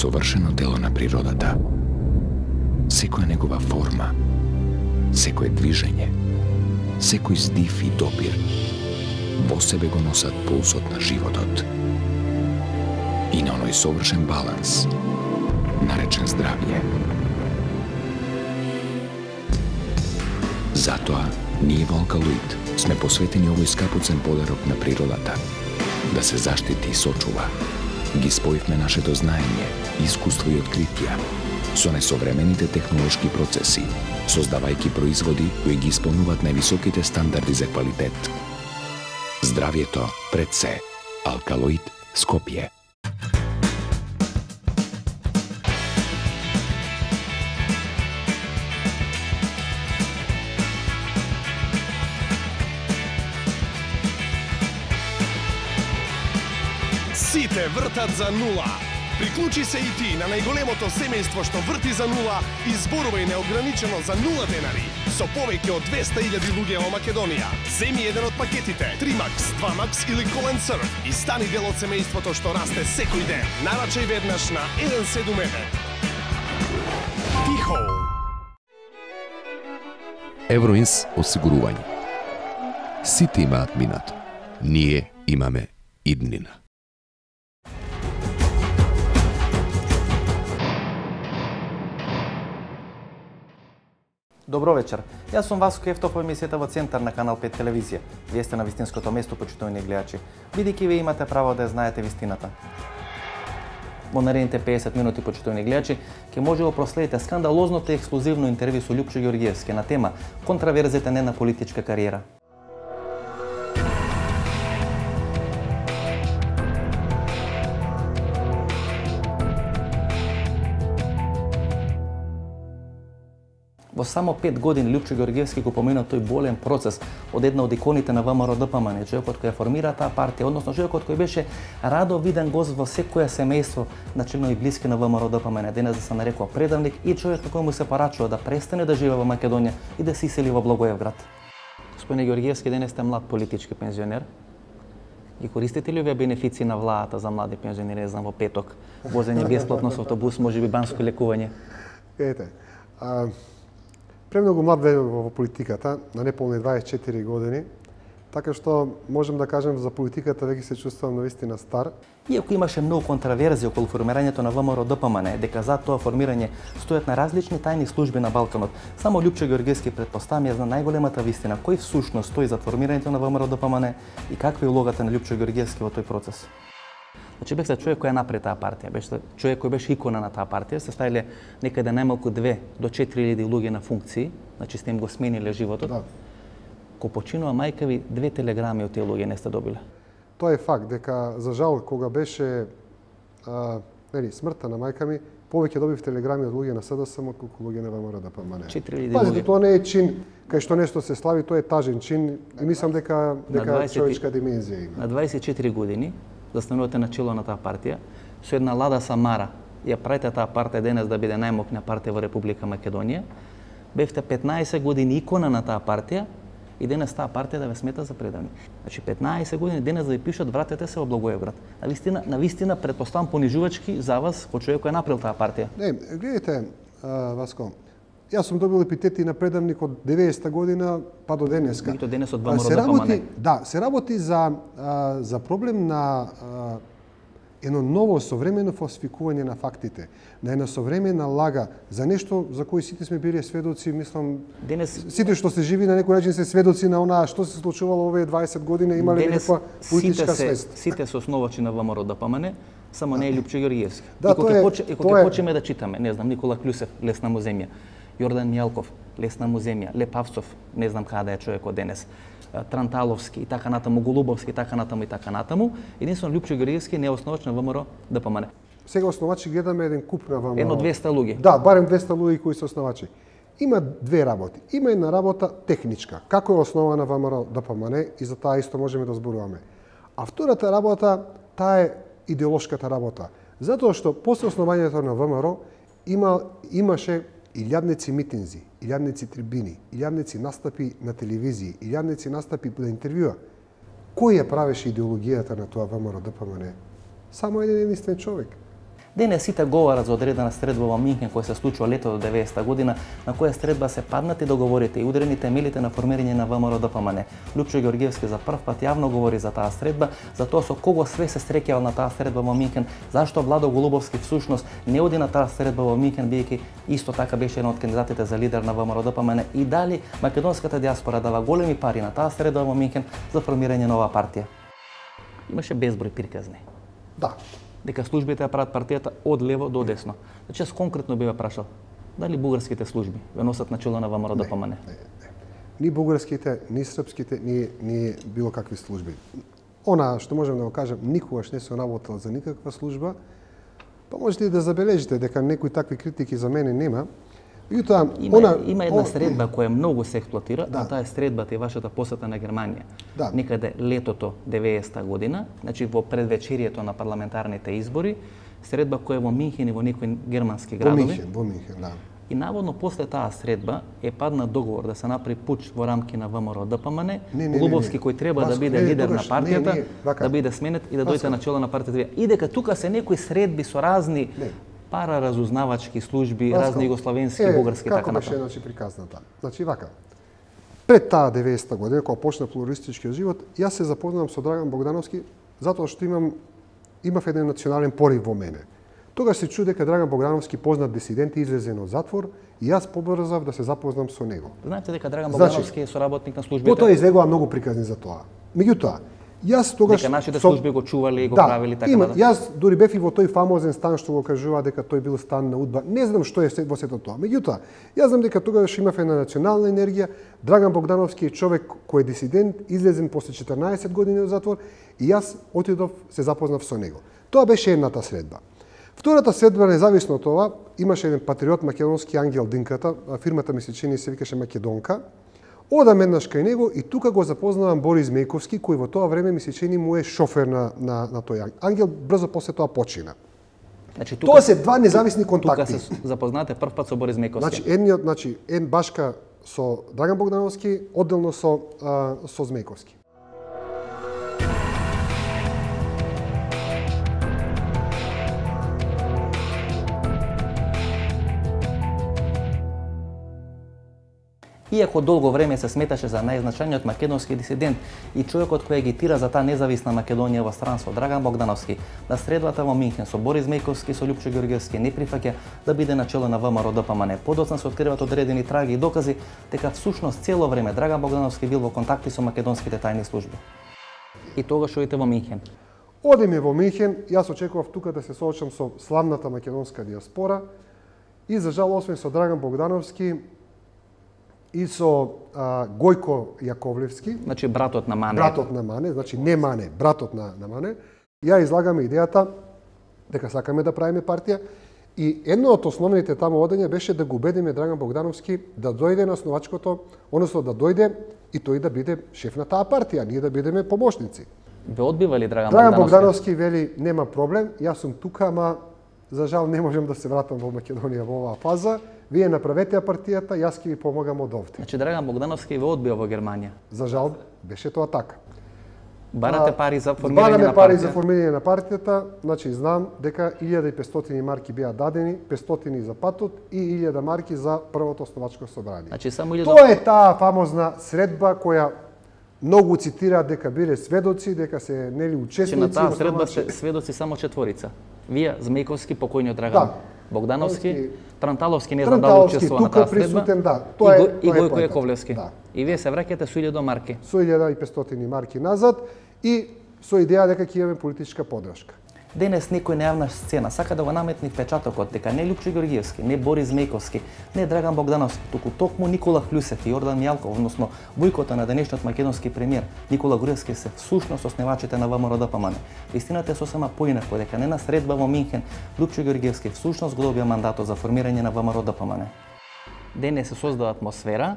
совршено дело на природата. Секоја негова форма, секое движење, секој здив и допир во себе го носат пулсот на животот. И на оној совршен баланс, наречен здравје. Затоа, ние во Алкалоид сме посветени овој скапоцен подарок на природата, да се заштити и сочува. Ги споивме нашето знаење, искуство и откритија со несовремените технолошки процеси, создавајќи производи кои ги исполнуваат највисоките стандарди за квалитет. Здравјето пред се. Алкалоид Скопје. Сите вртат за нула. Приклучи се и ти на најголемото семејство што врти за нула и зборувај неограничено за 0 денари со повеќе од 200.000 луѓе во Македонија. Земи еден од пакетите 3Max, 2Max или Колен Surf и стани дел од семејството што расте секој ден. Нарачај веднаш на 171. Тихо. Евроинс осигурување. Сите имаат минато. Ние имаме иднина. Добро вечер. Јас сум Васко Ефтов во емисијата во Центар на Канал 5 телевизија. Вие сте на вистинското место, почитувани гледачи, бидејќи вие имате право да ја знаете вистината. Во наредните 50 минути, почитувани гледачи, ќе може да проследите скандалозното и ексклузивно интервју со Љупчо Ѓорѓиевски на тема контраверзите на политичка кариера. Во само 5 години Љупчо Ѓорѓиевски го помина тој болен процес од една од иконите на ВМРО-ДПМН, човекот кој ја формира таа партија, односно човекот кој беше радо виден гост во секое семејство на членови блиски на ВМРО-ДПМН, денес да се нарекува предавник и човек на кој му се порачува да престане да живее во Македонија и да се исели во Благоевград. Господине Ѓорѓиевски, денес сте млад политички пензионер. Ги користите ли овие бенефиции на владата за млади пензионери, знам во петок, возење бесплатно со автобус, можеби банско лекување? Ете, премногу млад во политиката, на неполни 24 години, така што можем да кажем за политиката веќе се чувствувам навистина стар. Иако имаше многу контраверзија околу формирањето на ВМРО-ДПМН, дека за тоа формирање стојат на различни тајни служби на Балканот, само Љупчо Ѓорѓиевски претпоставам ја зна најголемата вистина, кој всушност стои за формирањето на ВМРО-ДПМН и каква е улогата на Љупчо Ѓорѓиевски во тој процес. Значи бевте човек кој ја направи таа партија, беше човек кој беше икона на таа партија, се ставиле некаде најмалку 2 до 4.000 луѓе на функции, значи сте им го смениле животот. Да. Ко починува мајка ви, 2 телеграми од тие луѓе не сте добиле. Тоа е факт дека за жал кога беше смртта на мајка ми, повеќе добив телеграми од луѓе на СДСМ отколку луѓе на ВМРО-ДПМН. 4.000 Пазите, луѓе. тоа не е чин кај што нешто се слави, тоа е тажен чин и мислам дека човечка димензија има. На 24 години застанувате на чело на таа партија, со една лада самара ја правите таа партија денес да биде најмокна партија во Република Македонија. Бевте 15 години икона на таа партија и денес таа партија да ве смета за предавник. Значи 15 години денес да ви пишат вратете се во Благоевград. На вистина претпоставам понижувачки за вас кој човек кој е направил таа партија. Не, гледайте, Васко, јас сум добил епитети на предавник од 90-та година па до денеска. Меѓутоа денес од ВМРО-ДПМН. Да, се работи за проблем на едно ново современо фалсификување на фактите, на една современа лага за нешто за кој сите сме били сведоци, мислам, денес сите што се живи на некој начин се сведоци на онаа што се случувало овие 20 години, имале некаква политичка свест. Сите се основачи на ВМРО-ДПМН, само не е Љупчо Ѓорѓиевски. Да, и кога почнеме да читаме, не знам, Никола Клюсев, Лесна му земја, Јордан Мјалков, Лесна му земја, Лепавцов, не знам каде е човекот денес, Транталовски и така натаму, Голубовски и така натаму, единствено Љупчо Ѓорѓиевски не е основач на ВМРО-ДПМН. Сега основачи гледаме еден куп на ВМРО. Едно 200 луѓе. Да, барем 200 луѓе кои се основачи. Има две работи. Има една работа техничка, како е основана ВМРО-ДПМН и за таа исто можеме да зборуваме. А втората работа, таа е идеолошката работа. Затоа што после основањето на ВМРО имаше илјадници митинзи, илјадници трибини, илјадници настапи на телевизии, илјадници настапи на интервјуа. Кој ја правеше идеологијата на тоа ВМРО-ДПМН? Само еден единствен човек. Денес сите говорат за одредена средба во Минхен која се случува лето до 90-та година, на која средба се паднати договорите и удрени темелите на формирање на ВМРО ДПМН. Лупчо Ѓорѓевски за прв пат јавно говори за таа средба, за тоа со кого све се среќавал на таа средба во Минхен, зашто Владо Голубовски всушност не оди на таа средба во Минхен, бидејќи исто така беше еден од кандидатите за лидер на ВМРО ДПМН, и дали македонската диаспора дава големи пари на таа средба во Минхен за формирање на оваа партија. Имаше безброј приказни. Да. Дека службите ја прават партијата од лево до десно. Значи, јас конкретно би ве прашал, дали бугарските служби ве носат начело на ВМРО ДПМН? Ни бугарските, ни српските, ни било какви служби. Она што можем да го кажем, никогаш не се работел за никаква служба, па можете и да забележите дека некои такви критики за мене нема. Има една средба која многу се експлоатира, а таа е средбата и вашата посета на Германија. Да. Некаде летото 90-та година, значи во предвечерието на парламентарните избори, средба која е во Минхен и во некои германски градови. Во Минхен, да. И наводно после таа средба е падна договор да се направи пуч во рамки на ВМРО ДПМН, Голубовски кој треба да биде лидер на партијата, да биде сменет и да дојде начело на партијата. И дека тука се некои средби со разни параразузнавачки служби, разни југословенски, бугарски и така натаму. Како беше приказната? Значи вака. Пред таа 90-та година кога почна плуралистичкиот живот, јас се запознавам со Драган Богдановски затоа што имав еден национален порив во мене. Тогаш се чу дека Драган Богдановски познат дисидент излезен од затвор и јас побрзав да се запознам со него. Знаете дека Драган Богдановски е соработник на службите? Потоа излегува многу приказни за тоа. Меѓутоа, јас тогаш дека нашите служби го чували и го правили така да. Јас дури бев и во тој фамозен стан што го кажува дека тој бил стан на УДБА. Не знам што е во сето тоа. Меѓутоа, јас знам дека тогаш имав една национална енергија. Драган Богдановски е човек кој е дисидент, излезен после 14 години од затвор и јас отидов се запознав со него. Тоа беше едната средба. Втората средба, независно од тоа, имаше еден патриот македонски Ангел Динката, фирмата ми се чини се викаше Македонка. Одам еднаш кај него и тука го запознавам Борис Мејковски, кој во тоа време ми се чини му е шофер на тој Ангел. Брзо после тоа почина. Значи, тоа се два независни контакти. Тука се запознате прв пат со Борис Мејковски. Значи, ен башка со Драган Богдановски, одделно со Змејковски. Иако долго време се сметаше за најзначајниот македонски дисидент и човекот кој агитира за таа независна Македонија во странство, Драган Богдановски, на средбата во Минхен со Борис Мејковски и со Лупчо Ѓорѓевски не прифаќа да биде начело на ВМРО ДПМН. Подоцна се откриваат одредени траги и докази дека всушност цело време Драган Богдановски бил во контакти со македонските тајни служби. И тогаш одите во Минхен. Одиме во Минхен, јас очекував тука да се соочам со славната македонска диаспора и за жал освен со Драган Богдановски и со Гојко Јаковлевски. Значи братот на Мане. Братот на Мане, значи не Мане, братот на Мане. Ја излагаме идејата дека сакаме да правиме партија и едно од основните таму одења беше да го убедиме Драган Богдановски да дојде на основачкото, односно да дојде и тој да биде шеф на таа партија, ние да бидеме помошници. Ве одбива ли Драган Богдановски вели нема проблем, јас сум тука, ама за жал не можам да се вратам во Македонија во оваа фаза. Вие направете ја партијата, јас ќе ви помогам од овде. Значи Драган Богдановски ве одбива во Германија. За жал беше тоа така. Барате пари за формирање на партија. Бараме пари за формирање на партијата, значи знам дека 1500 марки беа дадени, 500 за патот и 1000 марки за првото основачко собрание. Значи само 1000. Тоа е таа фамозна средба која многу цитираат дека биле сведоци, дека се нели учесници. На таа средба се сведоци само четворица. Вие, Змејковски, покојниот Драган Богдановски, Транталовски, не знам дали учествува на таа средба, и Гојко Јаковлевски. И вие се враќате со 1000 марки. Со 1500 марки назад и со идеја дека ќе имаме политичка поддршка. Денес некој на јавна сцена сака да го наметне впечатокот дека не Лупчо Ѓорѓевски, не Борис Мејковски, не Драган Богдановски, туку токму Никола Хљусев и Јордан Мјалков, односно војкота на денешниот македонски премиер Никола Груевски се всушност основачите на ВМРО ДПМН. Истината е сосема поинако дека не на средба во Минхен Лупчо Ѓорѓевски всушност го добија мандатот за формирање на ВМРО ДПМН. Денес се создава атмосфера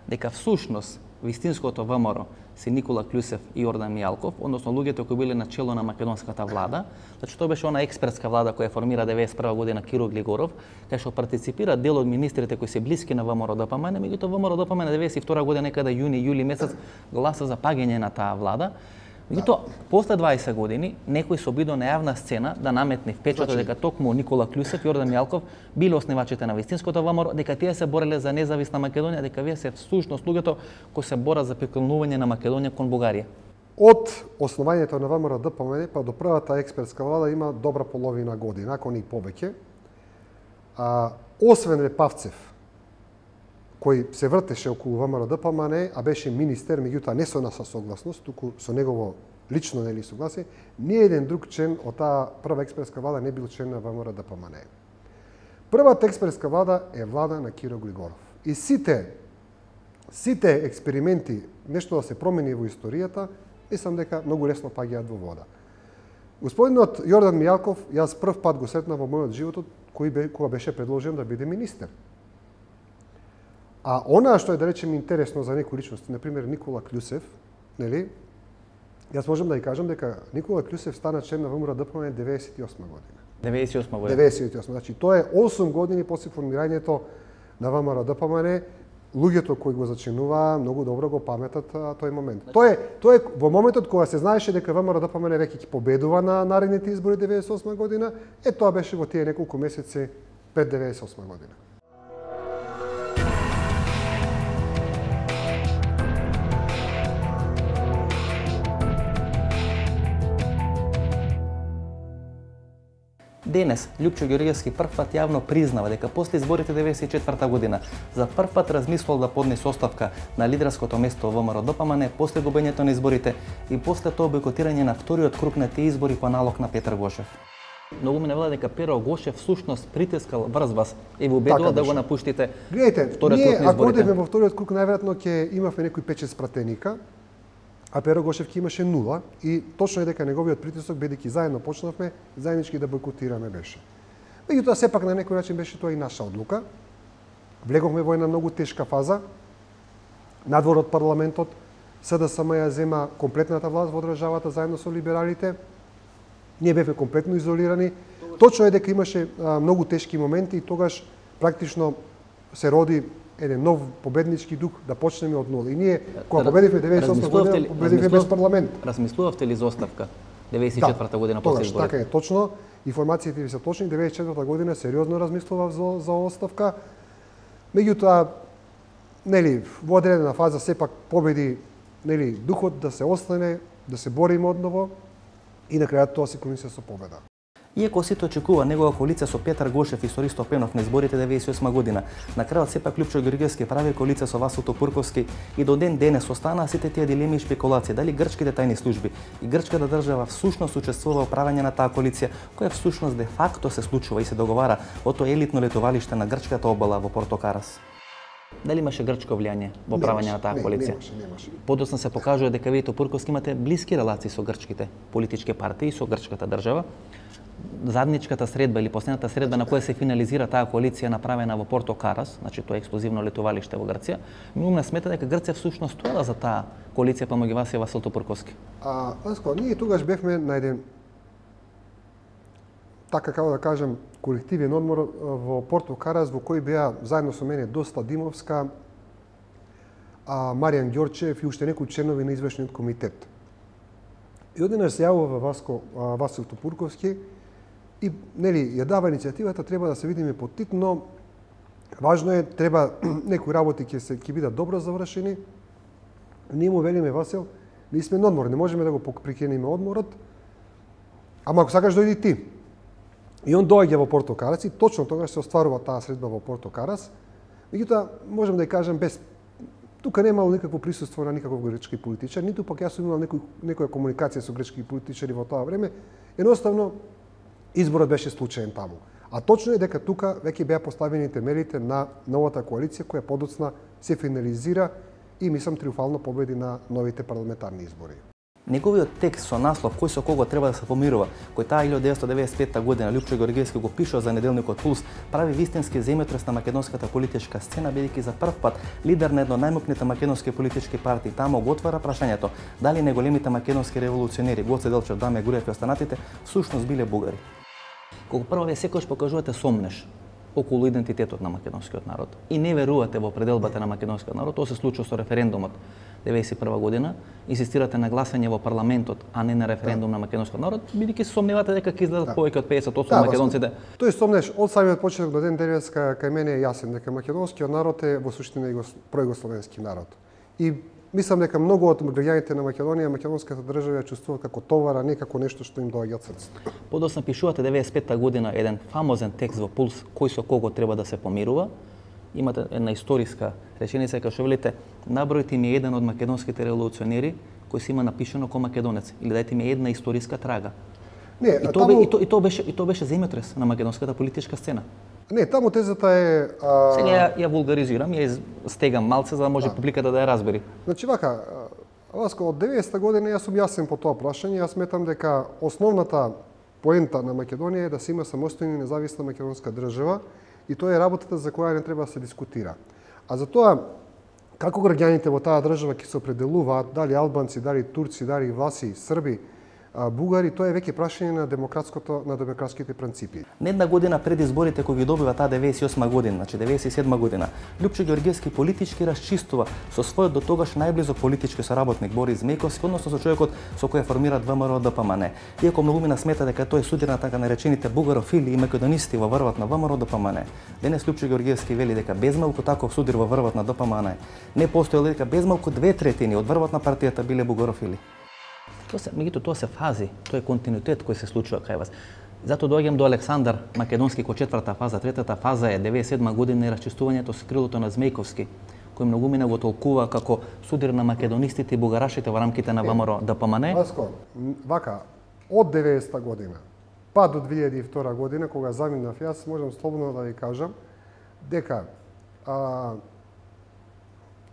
дека всушност вистинското ВМРО се Никола Хљусев и Јордан Мјалков, односно луѓето кои биле на чело на македонската влада. Значи тоа беше она експертска влада која формира 91 година Киро Глигоров, кај што партиципира дел од министрите кои се блиски на ВМРО ДПМН, меѓутоа ВМРО ДПМН 92 година некаде јуни-јули месец гласа за паѓање на таа влада. Меѓутоа, после 20 години, некој се обидо на јавна сцена да наметне впечаток дека токму Никола Клюсев и Јордан Мијалков биле основачите на вистинското ВМРО, дека тие се бореле за независна Македонија, дека вие се всушност луѓето кои се борат за приклонување на Македонија кон Бугарија. Од основањето на ВМРО ДПМН па до првата експертска влада има добра половина година, ако не и повеќе. Освен Лепавцев, кој се вртеше околу ВМРО ДПМН, а беше министер, меѓутоа не со наша согласност, туку со негово лично нели согласие, ни еден друг член од таа прва експертска влада не бил член на ВМРО ДПМН. Првата експертска влада е влада на Киро Глигоров. И сите експерименти, нешто да се промени во историјата, мислам дека многу лесно паѓаат во вода. Господинот Јордан Мијалков, јас прв пат го сретнав во мојот животот кога беше предложен да биде министер. А она што е, да речем, интересно за некои личности, например Никола Клюсев, нели? Јас можам да ја кажам дека Никола Клюсев стана член на ВМРО ДПМН 98 година. 98 година. 98. Значи тоа е 8 години после формирањето на ВМРО ДПМН. Луѓето кои го зачинуваа многу добро го паметат тој момент. Тоа е во моментот кога се знаеше дека ВМРО ДПМН веќе ќе победува на наредните избори 98 година, тоа беше во тие неколку месеци пред 98 година. Денес, Лјупчо Ѓорѓевски првпат јавно признава дека после изборите 94 година за првпат размислувал да поднесе оставка на лидерското место во ВМРО ДПМН после губењето на изборите и после тоа бойкотирање на вториот круг на тие избори по налог на Петар Гошев. Многу ме навела дека Перо Гошев всушност притискал врз вас и ви убедува да го напуштите. Гледайте, вториот круг на изборите. Ако одевме во вториот круг, најверојатно ќе имавме некои 5-6 пратеника, а Перо Гошев ќе имаше 0 и точно е дека неговиот притисок, бидејќи заедно почнавме, заеднички да бойкотираме беше. Меѓутоа, сепак на некој начин беше тоа и наша одлука. Влеговме во една многу тешка фаза. Надвор од парламентот, СДСМ ја зема комплетната власт во државата заедно со либералите. Ние бевме комплетно изолирани. Точно е дека имаше многу тешки моменти и тогаш практично се роди еден нов победнички дух да почнеме од нула. И ние, кога победивме 98 година, победивме без парламент. Размислувавте ли за оставка 94 година после изборите? Така е, точно. Информациите ви се точни. 94 година сериозно размислував за оставка. Меѓутоа, нели, во одредена фаза сепак победи, нели, духот да се остане, да се бориме одново и на крајот тоа се кончи со победа. Иако сите очекува негова коалиција со Петар Гошев и со Ристо Пенов на изборите 98 година, на крајот сепак Лјупчо Ѓорѓевски прави коалиција со Васо Топурковски и до ден денес останаа сите тие дилеми и шпекулации дали грчките тајни служби и грчката држава всушност учествува во правење на таа коалиција, која всушност де факто се случува и се договара во тоа елитно летовалиште на грчката обала во Порто Карас. Дали имаше грчко влијание во правење на таа коалиција? Немаше. Подоцна се покажува дека вие Топурковски имате блиски релации со грчките политички партии и со грчката држава. Задничката средба или последната средба на која се финализира таа коалиција направена во Порто Карас, значи тоа е експлозивно летовалиште во Грција, многу смета дека Грција всушност стоела за таа коалиција помеѓу вас и Васил Топурковски. Ние тогаш бевме на еден, така како да кажем, колективен одмор во Порто Карас, во кој беа заедно со мене Доста Димовска, Маријан Ѓорчев и уште некои членови на извршниот комитет. И одеднаш се јавува Васил Топурковски и нели ја дава иницијативата, треба да се видиме поттитно. Важно е, треба некои работи ќе бидат добро завршени. Ние му велиме, Васил, ние сме на одмор, не можеме да го прекинеме одморот. Ама ако сакаш дојди ти. И он доаѓа во Порто Карас и точно тогаш се остварува таа средба во Порто Карас. Меѓутоа, можам да ја кажам без тука немало никакво присуство на никаков грчки политичар, ниту пак јас сум имал некоја комуникација со грчки политичари во тоа време. Едноставно, изборот беше случаен таму. А точно е дека тука веќе беа поставени темелите на новата коалиција која подоцна се финализира и мислам триумфално победи на новите парламентарни избори. Неговиот текст со наслов кој со кого треба да се помирува, кој таа 1995 година Лјупчо Ѓорѓевски го пишува за неделникот Пулс, прави вистински земјотрес на македонската политичка сцена, бидејќи за прв пат лидер на едно најмокните македонски политички партии таму го отвара прашањето дали неголемите македонски револуционери Гоце Делчев, Даме Груев и останатите всушност биле бугари. Колку прво вие секогаш покажувате сомнеш околу идентитетот на македонскиот народ и не верувате во пределбата на македонскиот народ, тоа се случува со референдумот 1991 година, инсистирате на гласање во парламентот, а не на референдум на македонскиот народ, бидејќи се сомневате дека ќе издадат повеќе од 50% македонците. Тој сомнеш од самиот почеток до ден денес кај мене е јасен дека македонскиот народ е во суштина пројугословенски народ. И мислам дека многу од граѓаните на Македонија, македонската држава ја чувствуваат како товар, а не како нешто што им доаѓа од срцето. Подоцна пишувате 95-та година еден фамозен текст во Пулс кој со кого треба да се помирува. Имате една историска реченица кај што велите: набројте ми еден од македонските револуционери кој си има напишано ко македонец, или дајте ми една историска трага. Не, и тоа беше земјотрес на македонската политичка сцена. Не, таму тезата е... Сега ја вулгаризирам, ја стегам малце за да може публиката да ја разбери. Значи вака, Васко, од 90-та година јас сум јасен по тоа прашање. Јас сметам дека основната поента на Македонија е да се има самостојна и независна македонска држава и тоа е работата за која не треба да се дискутира. А за тоа, како граѓаните во таа држава ќе се определуваат, дали албанци, дали турци, дали власи, срби, бугари, тоа е веќе прашање на демократските принципи. Не една година пред изборите кои ги добива таа 98 година, значи 97 година, Лјупчо Ѓорѓевски политички расчистува со својот до тогаш најблизок политички соработник Борис Мејковски, односно со човекот со кој формираат ВМРО ДПМН. Иако многумина смета дека тој судир на така наречените бугарофили и македонисти во врвот на ВМРО ДПМН. Денес Лјупчо Ѓорѓевски вели дека безмалку таков судир во врвот на ДПМН не постоело, дека безмалку 2/3 од врвот на партијата биле бугарофили. Тоа се фази, тоа е континуитет кој се случува кај вас. Зато доаѓам до Александар Македонски кој четврта фаза, третата фаза е 97 година и расчистувањето со крилото на Змејковски, кој многумина го толкува како судир на македонистите и бугарашите во рамките на ВМРО ДПМН. Васко, вака, од 90-та година па до 2002 година, кога заминав јас, можам слободно да ви кажам дека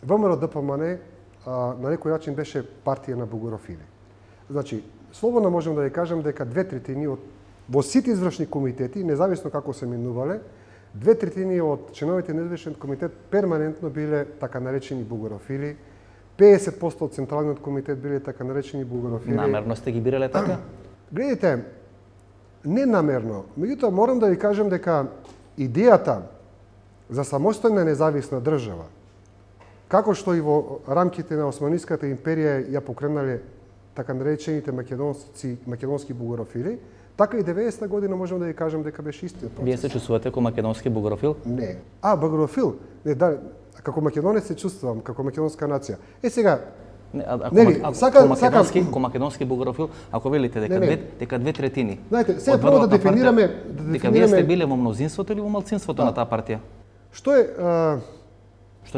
ВМРО ДПМН на некој начин беше партија на бугарофили. Значи, слободно можем да ви кажам дека 2/3 од во сите извршни комитети, независно како се менувале, 2/3 од членовите на извршен комитет перманентно биле така наречени бугарофили, 50% од централниот комитет биле така наречени бугарофили. Намерно сте ги бирале така? Гледайте, не намерно. Меѓутоа морам да ви кажам дека идејата за самостојна независна држава, како што и во рамките на Османиската империја ја покренале така наречените македонски бугарофили, така и 90-та година можам да ви кажам дека беше истиот процес. Вие се чувствувате како македонски бугарофил? Не. Бугарофил? Не, да, како македонец се чувствувам, како македонска нација. Сега, ко македонски бугарофил, ако велите дека 2/3. Знаете, сега прво да дефинираме дека вие сте биле во мнозинството или во малцинството на таа партија? Што е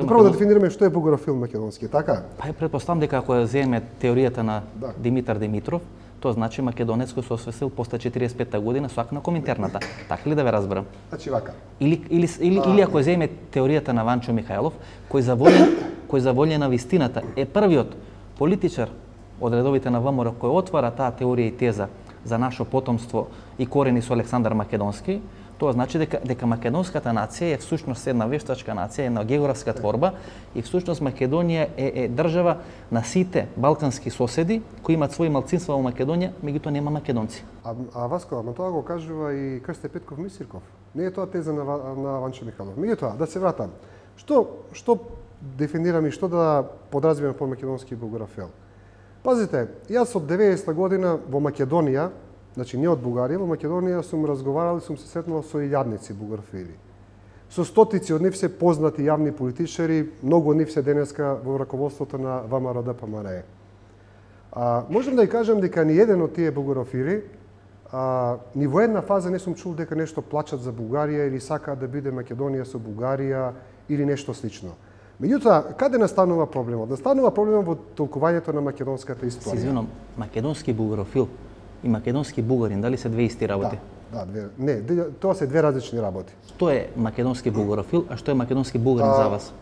прво да дефинираме што е бугарофил македонски, така? Па претпоставам дека ако ја земе теоријата на Димитар Димитров, тоа значи македонец кој се освестил после 45-та година со акт на Коминтерната. Така ли да ве разберам? Значи вака. Или ако ја земе теоријата на Ванчо Михајлов, кој за волја на вистината е првиот политичар од редовите на ВМРО кој отвара таа теорија и теза за наше потомство и корени со Александар Македонски, тоа значи дека македонската нација е всушност една вештачка нација, една географска творба и всушност Македонија е држава на сите балкански соседи кои имаат своји малцинства во Македонија, меѓутоа нема македонци. Васко, ама тоа го кажува и Крсте Петков Мисирков. Не е тоа теза на Ванчо Михайлов. Меѓутоа, да се вратам. Што дефинирам и што да подразбирам по македонски бугарофил? Пазите, јас од 90-та година во Македонија, значи не од Бугарија, во Македонија сум разговарал и сум се сретнал со илјадници бугарофили. Со стотици од нив се познати јавни политичари, многу од нив се денеска во раководството на ВМРО ДПМН. Можам да ја кажам дека ни еден од тие бугарофили ни во една фаза не сум чул дека нешто плачат за Бугарија или сакаат да биде Македонија со Бугарија или нешто слично. Меѓутоа, каде настанува проблемот? Настанува проблемот во толкувањето на македонската историја. Се извинувам, македонски бугарофил и македонски бугарин, дали се две исти работи? Не, тоа се две различни работи. Што е македонски бугарофил, а што е македонски бугарин за вас?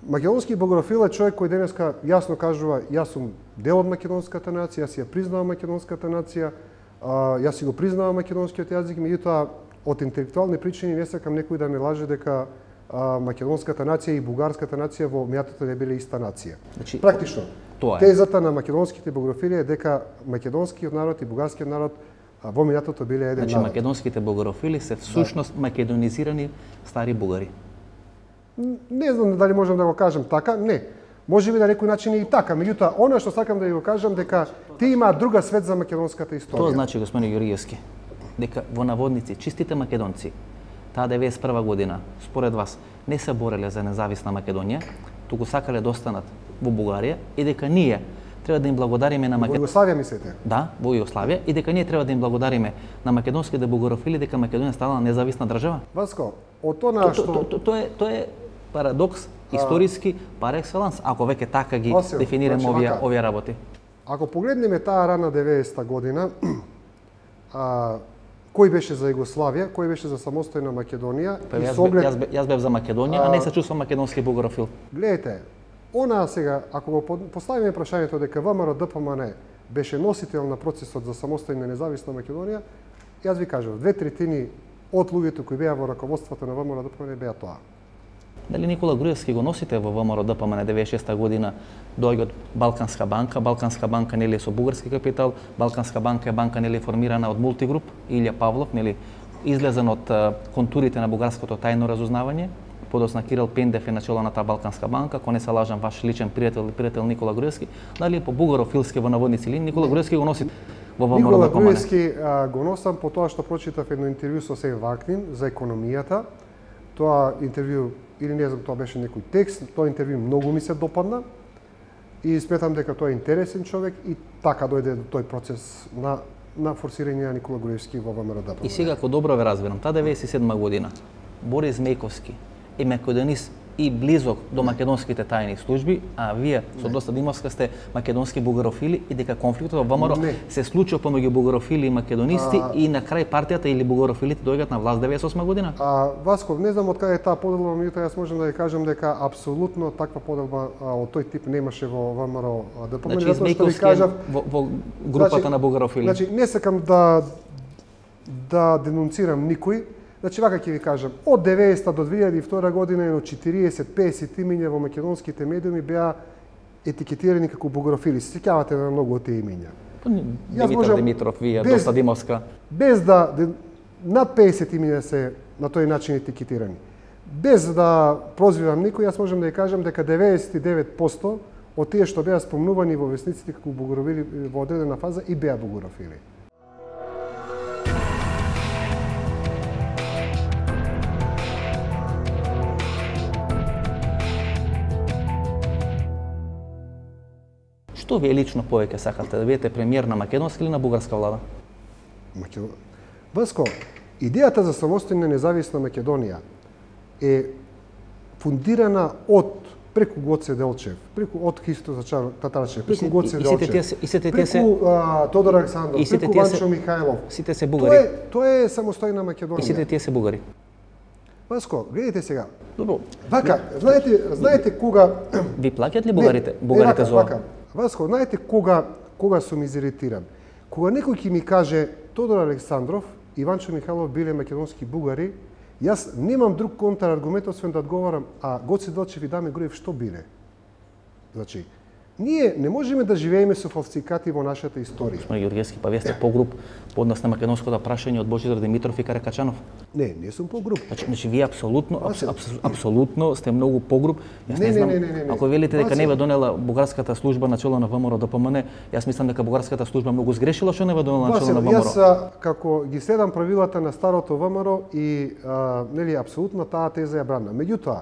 Македонски бугарофил е човек кој денеска јасно кажува јас сум дел од македонската нација, јас ја признавам македонската нација, јас си го признавам македонскиот јазик, меѓутоа од интелектуални причини не сакам некој да ме лаже дека македонската нација и бугарската нација во меатото не биле иста нација. Значи, практично, тоа е. Тезата на македонските бугарофили е дека македонскиот народ и бугарскиот народ во минатото биле еден Значи народ. македонските бугарофили се всушност македонизирани стари бугари. Не знам дали можам да го кажам така, не. Може би на некој начин и така, меѓутоа она што сакам да ја го кажам дека тие имаат друга свет за македонската историја. Тоа значи, господин Јуриевски, дека во наводници чистите македонци таа 91 година, според вас, не се бореле за независна Македонија, туку сакале да останат во Бугарија и дека ние треба да им благодариме на Во Македонија. Југославија мислите? Да, во Југославија и дека ние треба да им благодариме на македонските бугарофили дека Македонија станала независна држава. Васко, од она што Тоа е парадокс историски пар екселанс, ако веќе така ги Осел, дефинираме значи вака. овие работи. ако погледнеме таа рана 90-та година, кој беше за Југославија, кој беше за самостојна Македонија Па и јас, со оглед јас бев за Македонија, а не се чувствам македонски бугарофил. гледайте, она сега, ако го поставиме прашањето дека ВМРО ДПМН беше носител на процесот за самостојна независна Македонија, јас ви кажав, 2/3 од луѓето кои беа во раководството на ВМРО ДПМН беа тоа. Дали Никола Груевски го носите во ВМРО ДПМН 96 година, доаѓа од Балканска банка. Балканска банка нели е со бугарски капитал, Балканска банка е банка нели формирана од Мултигруп, Илја Павлов, нели излезен од контурите на бугарското тајно разузнавање. Подосна Кирил Пендев е начело на таа Балканска банка, ако не се лажам ваш личен пријател Никола Груевски, дали по бугарофилски во наводници линии Никола Груевски го носи во ВМРО Никола ДПМН. Груевски го носам по тоа што прочитав едно интервју со Сен Вакнин за економијата. Тоа интервју, или не знам, тоа беше некој текст, тоа интервју многу ми се допадна и сметам дека тоа е интересен човек и така дојде до тој процес на форсирање на Никола Груевски во ВМРО ДПМН. И сега, ако добро ве разбирам, таа 97 година, Борис Мејковски е македонист и близок до македонските тајни служби, а вие со доста Димовска сте македонски бугарофили и дека конфликтот во ВМРО Не. се случува помеѓу бугарофили и македонисти и на крај партијата или бугарофилите доаѓаат на власт 98 година. Васко, не знам од каде е таа поделба, меѓутоа јас можам да ја кажам дека апсолутно таква поделба од тој тип немаше во ВМРО ДПМН. Значи, затоа што ви Мејковски кажав, во групата на бугарофили. Значи, не сакам да денунцирам никој. Значи, вака ќе ви кажам, од 90 до 2002 година едно 40-50 имиња во македонските медиуми беа етикетирани како бугарофили. Се сеќавате на многу од тие имиња. Димитар можам Димитров, вие, без- доста Димовска. Без над 50 имиња се на тој начин етикетирани. Без да прозвивам никој, јас можам да ја кажам дека 99% од тие што беа спомнувани во весниците како бугарофили во одредена фаза и беа бугарофили. Што вие лично повеќе сакате, да бидете премиер на македонска или на бугарска влада? Васко, идејата за самостојна независна Македонија е фундирана преку Гоце Делчев, од Христо Татарчев, преку Гоце Делчев, преку Тодор Александров, преку Ванчо Михајлов. Сите се бугари. Тоа е самостојна Македонија. И сите тие се бугари. Васко, гледайте сега. Добро. Вака, знаете кога Ви плаќаат ли бугарите за ова? Васко, знаете кога сум изиритиран? Кога некој ќе ми каже Тодор Александров и Ванчо Михајлов биле македонски бугари, јас немам друг контраргумент освен да одговарам, а Гоце Делчев и Даме Груев што биле? Значи, ние не можеме да живееме со фалсификати во нашата историја. Господин Ѓорѓевски, па вие сте погруп по однос на македонското прашање од Божидар Димитров и Каракачанов. Не сум погруп. Значи вие апсолутно сте многу погруп. Јас не знам, ако велите дека не ве донела бугарската служба начело на ВМРО ДПМН, јас мислам дека бугарската служба многу сгрешила што не ве донела начело на ВМРО. Јас како ги следам правилата на старото ВМРО и нели апсолутно таа теза ја бранам. Меѓутоа,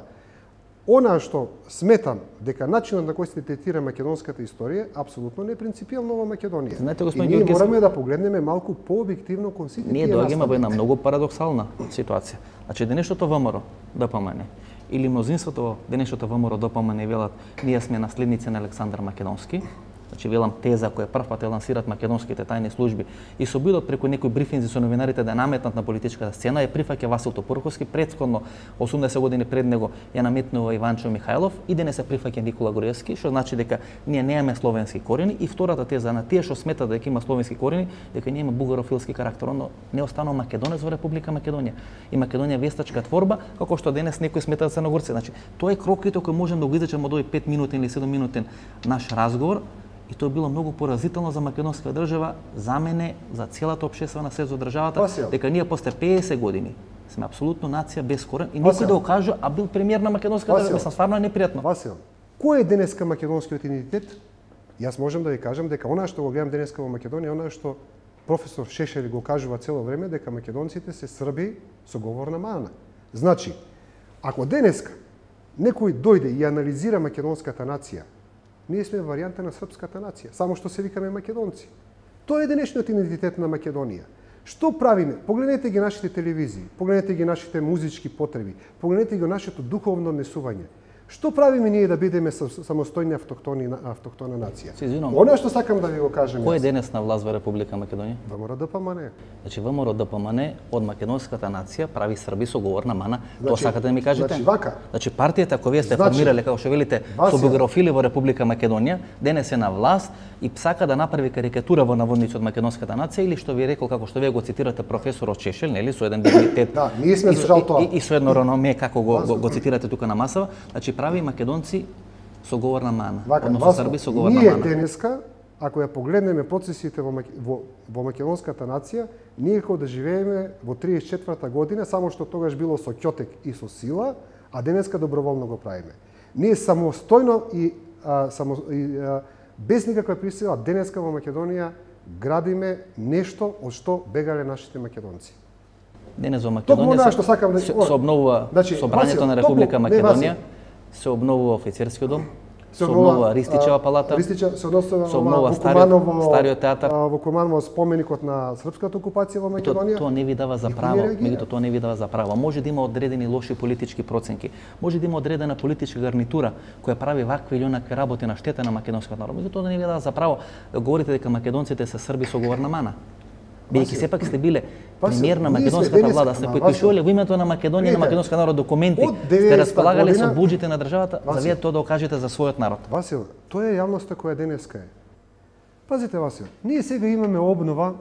она што сметам дека начинот на кој се третира македонската историја апсолутно не принципијално во Македонија. Знаете, И господин ние Ѓорѓевски, мораме да погледнеме малку пообјективно кон сите ние тие доаѓаме во една настави. многу парадоксална ситуација. Значи денешното ВМРО ДПМН или мнозинството во денешното ВМРО ДПМН велат ние сме наследници на Александар Македонски. Значи велам теза која прв пат ја лансират македонските тајни служби и со бидот преку некои брифинзи со новинарите да наметнат на политичката сцена ја прифаќа Васил Топурковски, претходно 80 години пред него ја наметнува Иванчо Михајлов и денес се прифаќа Никола Груевски, што значи дека ние немаме словенски корени и втората теза на тие што сметат дека има словенски корени, дека ние има бугарофилски карактер, но не останува македонец во Република Македонија. И Македонија вестачка творба, како што денес некои сметаат црногорци. Значи, тоа е кроките кои можем да го изречеме од овој 5 минутен или 7 минутен наш разговор. И тоа било многу поразително за македонска држава, за мене, за целата општествена свест за државата, дека ние после 50 години сме апсолутно нација без корен и никој да го каже, а бил премиер на македонска држава, мислам стварно е непријатно. Васил, кој е денеска македонскиот идентитет? Јас можам да ви кажам дека она што го гледам денеска во Македонија, она што професор Шешели го кажува цело време, дека македонците се срби со говорна мана. Значи, ако денеска некој дојде и анализира македонската нација, ние сме варијанта на српската нација, само што се викаме македонци. Тоа е денешниот идентитет на Македонија. Што правиме? Погледнете ги нашите телевизии, погледнете ги нашите музички потреби, погледнете ги нашето духовно однесување. Што правиме ние да бидеме самостојни автохтона нација? Она што сакам да ви го кажам. Кој е денес на власт во Република Македонија? ВМРО-ДПМН. Значи ВМРО-ДПМН од македонската нација прави срби со говорна мана. Тоа сакате да ми кажете? Значи вака. Значи партијата која вие сте формирале, како што велите, со биографили во Република Македонија, денес е на власт и сака да направи карикатура во наводници од македонската нација или што ви рекол, како што вие го цитирате професорот Шешел, нели, со еден дигнитет. Да, ние сме за жал тоа. И со едно реноме како го цитирате тука на масава, значи прави македонци со говорна мана, односно срби со говорна мана. Ние денеска, ако ја погледнеме процесите во македонската нација, ние како да живееме во 34-та година, само што тогаш било со ќотек и со сила, а денеска доброволно го правиме. Ние самостојно и без никаква присила денеска во Македонија градиме нешто од што бегале нашите македонци. Денес во Македонија се обновува собранието на Република Македонија, се обновува офицерскиот дом, се обновува Ристичева палата, се обновува стариот театар. Во Куманово споменикот на српската окупација во Македонија. Тоа не ви дава за право, меѓутоа тоа не ви дава за право. Може да има одредени лоши политички проценки, може да има одредена политичка гарнитура која прави вакви или онакви работи на штета на македонскиот народ. Меѓутоа тоа не ви дава за право да говорите дека македонците се срби со говорна мана. Бидејќи сепак сте биле премиер на македонската влада, сте подпишувале во името на Македонија, на македонскиот народ документи, сте располагале со буџите на државата, за вие тоа да окажете за својот народ. Васил, тоа е јавноста која денеска е. Пазите, Васил, ние сега имаме обнова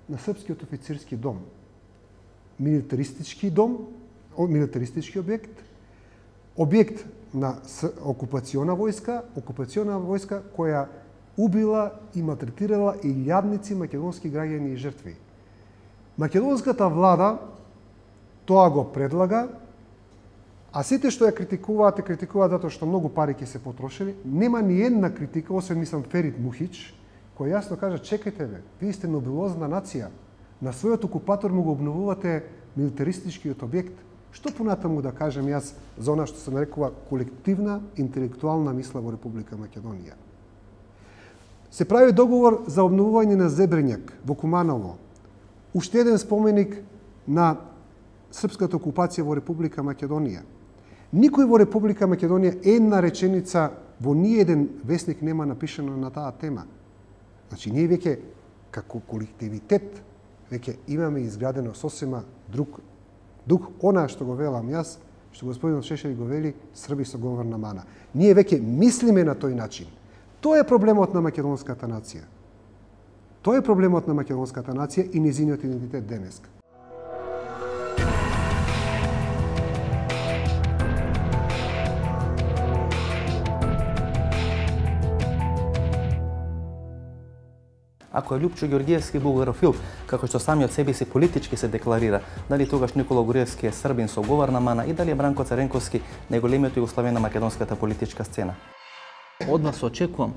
на српскиот офицерски дом. Милитаристички дом, милитаристички објект на окупациона војска која убила и малтретирала илјадници македонски граѓани и жртви. Македонската влада тоа го предлага, а сите што ја критикуваат затоа што многу пари ќе се потрошени. Нема ни една критика, освен мислам Ферит Мухич, кој јасно кажа: чекајте бе, вие сте нобелозна нација, на својот окупатор му го обновувате милитаристичкиот објект. Што понатаму да кажем јас за она што се нарекува колективна интелектуална мисла во Република Македонија? Се прави договор за обновување на Зебренјак во Куманово. Уште еден споменик на српската окупација во Република Македонија. Никој во Република Македонија една реченица во ниеден весник нема напишано на таа тема. Значи, ние веќе, како колективитет, веќе имаме изградено сосема друг дух, она што го велам јас, што господинот Шешели го вели, срби со говорна мана. Ние веќе мислиме на тој начин. Тоа е проблемот на македонската нација. Тоа е проблемот на македонската нација и незиниот идентитет денеска. Ако е Лјупчо Ѓорѓиевски бугарофил, како што самиот себе си политички се декларира, дали тогаш Никола Груевски е србин со говорна мана и дали е Бранко Царенковски најголемиот југославен на македонската политичка сцена. Од вас очекувам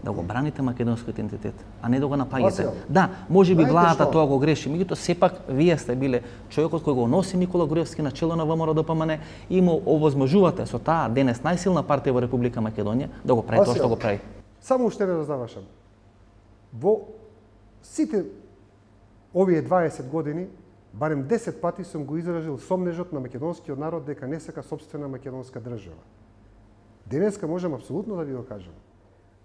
да го браните македонскиот идентитет, а не да го напаѓате. Да, можеби владата тоа го греши, меѓутоа сепак вие сте биле човекот кој го носи Никола Груевски на чело на ВМРО-ДПМН и му овозможувате со таа денес најсилна партија во Република Македонија да го прави тоа што го прави. Само уште да завршам. Во сите овие 20 години, барем 10 пати сум го изразил сомнежот на македонскиот народ дека не сака сопствена македонска држава. Денеска можам апсолутно да ви го кажам.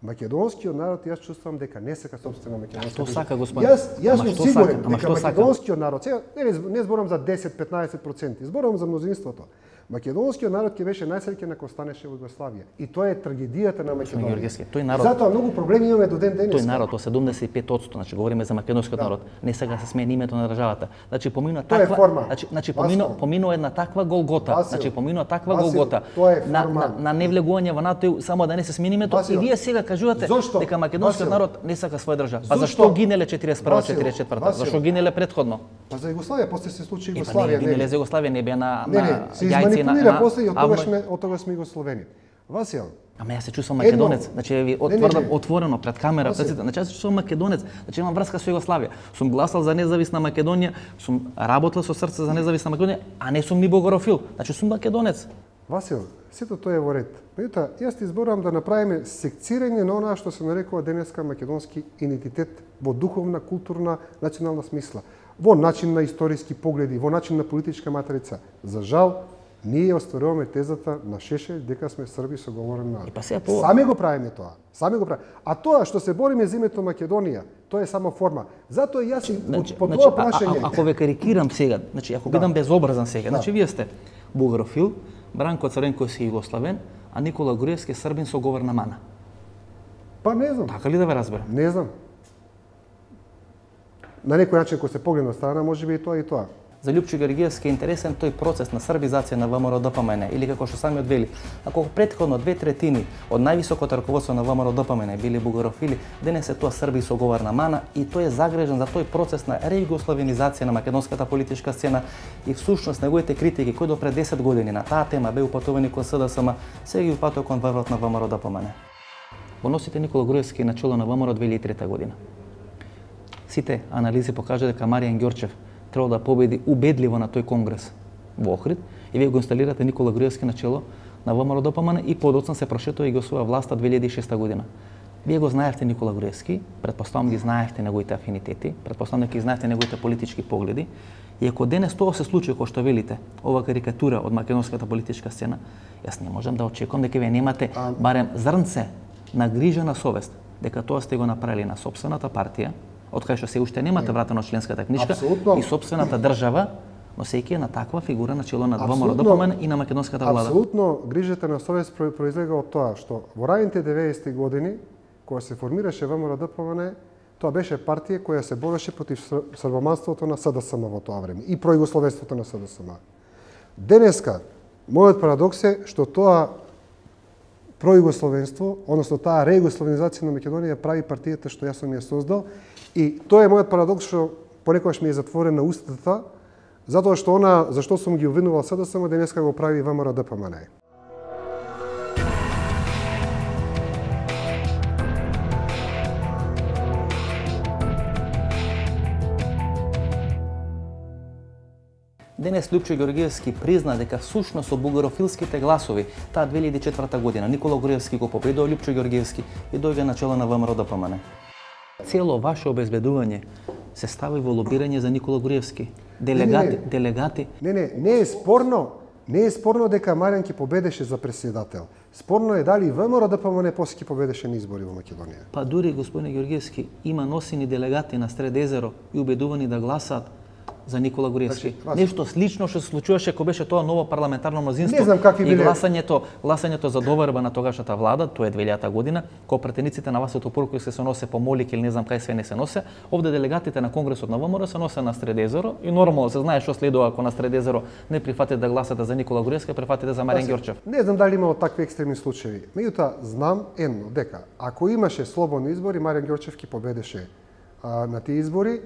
Македонскиот народ, јас чувствувам дека не сака сопствена македонска држава. Што сака, господин? Јас сум сигурен дека македонскиот народ, сега не зборам за 10-15%, зборам за мнозинството. Македонскиот народ ќе беше најсреќен ако останеше во Југославија. И тоа е трагедијата на Македонија. Тој народ, затоа многу проблеми имаме до ден денес. Тој народ, 75%, значи говориме за македонскиот народ, не сега се смени името на државата. Значи поминува таква, значи поминува една таква голгота, значи поминува таква голгота на невлегување во НАТО само да не се смени името и вие сега кажувате дека македонскиот народ не сака своја држава. Па зашто гинеле 41-44? Зашто гинеле претходно? Па за Југославија, после се случи Југославија. Југославија. Гинеле за Југославија, не беа на се изманипулира после и од тогаш сме Југословени. Васил. Ама јас се чувствувам македонец, значи ви отврдам отворено пред камера, значи јас се чувствувам македонец, значи имам врска со Југославија. Сум гласал за независна Македонија, сум работел со срце за независна Македонија, а не сум ни бугарофил. Значи сум македонец. Васил, сето тоа е во ред. Меѓутоа, јас ти изборувам да направиме секцирање на онаа што се нарекува денеска македонски идентитет во духовна, културна, национална смисла, во начин на историски погледи, во начин на политичка матрица. За жал, ние остваруваме тезата на Шешелј дека сме Срби со говорен народ. Сами го правиме тоа. Сами го правиме. А тоа што се бориме за името Македонија, тоа е само форма. Затоа јас по тоа прашање. Ако ве карикирам сега, значи ако бидам безобразен сега, значи вие сте бугарофил, Бранко Црвенков си југославен, а Никола Груевски србин со говорна мана. Па не знам. Така ли да ве разберам? Не знам. На некој начин кога се погледне од страна, можеби и тоа и тоа. За Лјупчо Ѓорѓиевски е интересен тој процес на србизација на ВМРО-ДПМН, или како што самиот вели, ако претходно 2/3 од највисокото раководство на ВМРО-ДПМН били бугарофили, денес е тоа срби со говорна мана и тој е загрежен за тој процес на рејугославенизација на македонската политичка сцена и всушност неговите критики кои до пред 10 години на таа тема беа упатувани кон СДСМ, сега ги упатува кон врвот на ВМРО-ДПМН. Во носите Никола Груевски начело на ВМРО 2003 година. Сите анализи покажа дека Маријан Ѓорчев требало да победи убедливо на тој конгрес во Охрид и вие го инсталирате Никола Груевски на чело на ВМРО-ДПМН и подоцна се прошетува и го освоја власта 2006 година. Вие го знаевте Никола Груевски, претпоставам ги знаевте неговите афинитети, претпоставам дека ги знаевте неговите политички погледи и ако денес тоа се случи кој што велите, ова карикатура од македонската политичка сцена, јас не можам да очекувам дека вие немате барем зрнце на грижа на совест дека тоа сте го направили на сопствената партија, од кај што се уште немате вратено членската книжка и сопствената држава, но сеќи е на таква фигура на чело на ВМРО-ДПМН и на македонската влада. Апсолутно, грижата на совест произлега од тоа што во раните 90-ти години, кога се формираше ВМРО-ДПМН, тоа беше партија која се бореше против србоманството на СДСМ во тоа време и пројугословенството на СДСМ. Денеска, мојот парадокс е што тоа пројугословенство, односно таа рејугословенизација на Македонија прави партијата што јас сум ја создал. И тоа е мојот парадокс што понекогаш ми е затворена устата, затоа што она зашто сум ги обвинувал СДСМ денеска го прави ВМРО-ДПМН. Денес Лјупчо Ѓорѓиевски призна дека всушност со бугарофилските гласови таа 2004 година Никола Груевски го победува Лјупчо Ѓорѓиевски и дојде на чело на ВМРО-ДПМН. Цело ваше обезбедување се стави во лобирање за Никола Груевски. Делегати. Не е спорно. Не е спорно дека Маријан ќе победеше за претседател. Спорно е дали ВМРО-ДПМН после ќе победеше на избори во Македонија. Па дури господине Ѓорѓиевски има носени делегати на Средезеро и убедувани да гласаат за Никола Груевски. Нешто слично што се случуваше кога беше тоа ново парламентарно мнозинство. Не знам какви биле. И гласањето за доверба на тогашната влада, тоа е 2000 година, кога претениците на Васето Порковски се носе по Молик или не знам кај све не се носе, овде делегатите на Конгресот на ВМРО се носе на Средезеро и нормално се знае што следува ако на Средезеро не прифатите да гласате за Никола Груевски, прифатите за Маријан Ѓорчев. Не знам дали имало такви екстремни случаи. Меѓутоа знам едно дека ако имаше слободни избори, Маријан Ѓорчев ќе победеше на тие избори.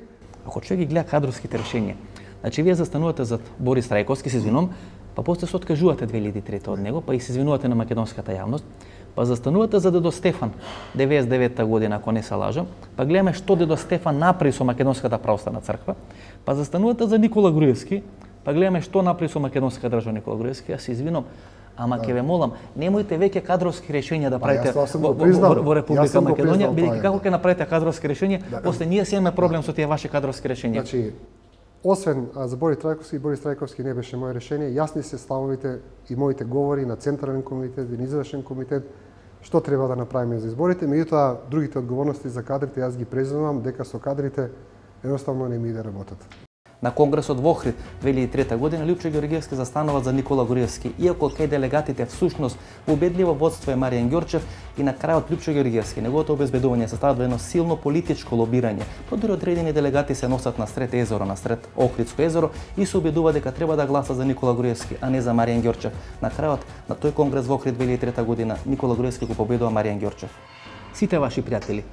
Ако човек ги гледа кадровските решенија, значи вие застанувате зад Борис Трајковски, се извинувам, па после се откажувате 2003 од него, па и се извинувате на македонската јавност, па застанувате за Дедо Стефан 99-та година, ако не се лажам, па гледаме што Дедо Стефан направи со македонската православна црква, па застанувате за Никола Груевски, па гледаме што направи со македонската држава Никола Груевски, јас се извинувам, ама ќе ве молам, немојте веќе кадровски решенија да правите во Република Македонија, бидејќи како ќе направите кадровски решенија, после ние си имаме проблем со тие ваши кадровски решенија. Значи, освен за Борис Трајковски не беше моје решение, јасни се ставовите и моите говори на Централен комитет и Извршен комитет што треба да направиме за изборите, меѓутоа другите одговорности за кадрите јас ги преземам дека со кадрите едноставно не ми иде работата. На конгресот во Охрид 2003 година Лјупчо Ѓоргиевски застанува за Никола Груевски, иако кај делегатите всушност во убедливо водство е Маријан Ѓорчев и на крајот Лјупчо Ѓоргиевски, неговото обезбедување се стават во едно силно политичко лобирање. Подир одредени делегати се носат насред езеро, насред Охридско езеро и се убедува дека треба да гласа за Никола Груевски, а не за Маријан Ѓорчев. На крајот на тој конгрес во Охрид 2003 година Никола Груевски го победува Маријан Ѓорчев. Сите ваши пријатели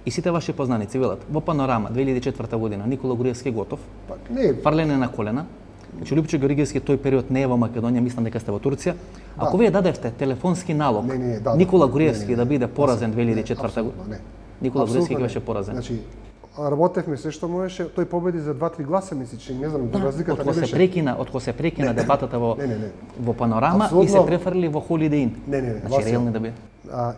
и сите ваши познаници велат во Панорама 2004 година Никола Груевски готов. Фарлене на колена. Значи Лјупчо Ѓоргиевски тој период не е во Македонија, мислам дека сте во Турција. Ако вие дадевте телефонски налог Никола Груевски да биде поразен 2004 година, Никола Груевски беше поразен. Значи работевме се што можеше, тој победи за 2-3 гласа, мислиш, не знам, разликата не беше. Откако се прекина дебатата во Панорама и се префрли во Holiday Inn. Значи реални да биде.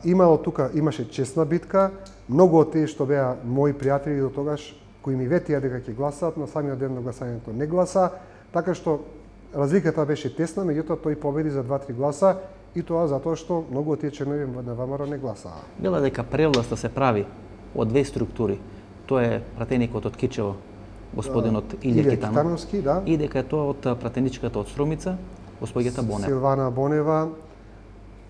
Имало тука, имаше честна битка, многу од тие што беа мои пријатели до тогаш, кои ми ветија дека ќе гласаат, на самиот ден на гласањето не гласа, така што разликата беше тесна, меѓутоа тој победи за 2-3 гласа и тоа затоа што многу од тие членови на ВМРО не гласаа. Била дека превласта се прави од две структури. Тоа е пратеникот од Кичево, господинот Илија Китановски, и дека е тоа од пратеничката од Струмица, господјата Бонева. Силвана Бонева.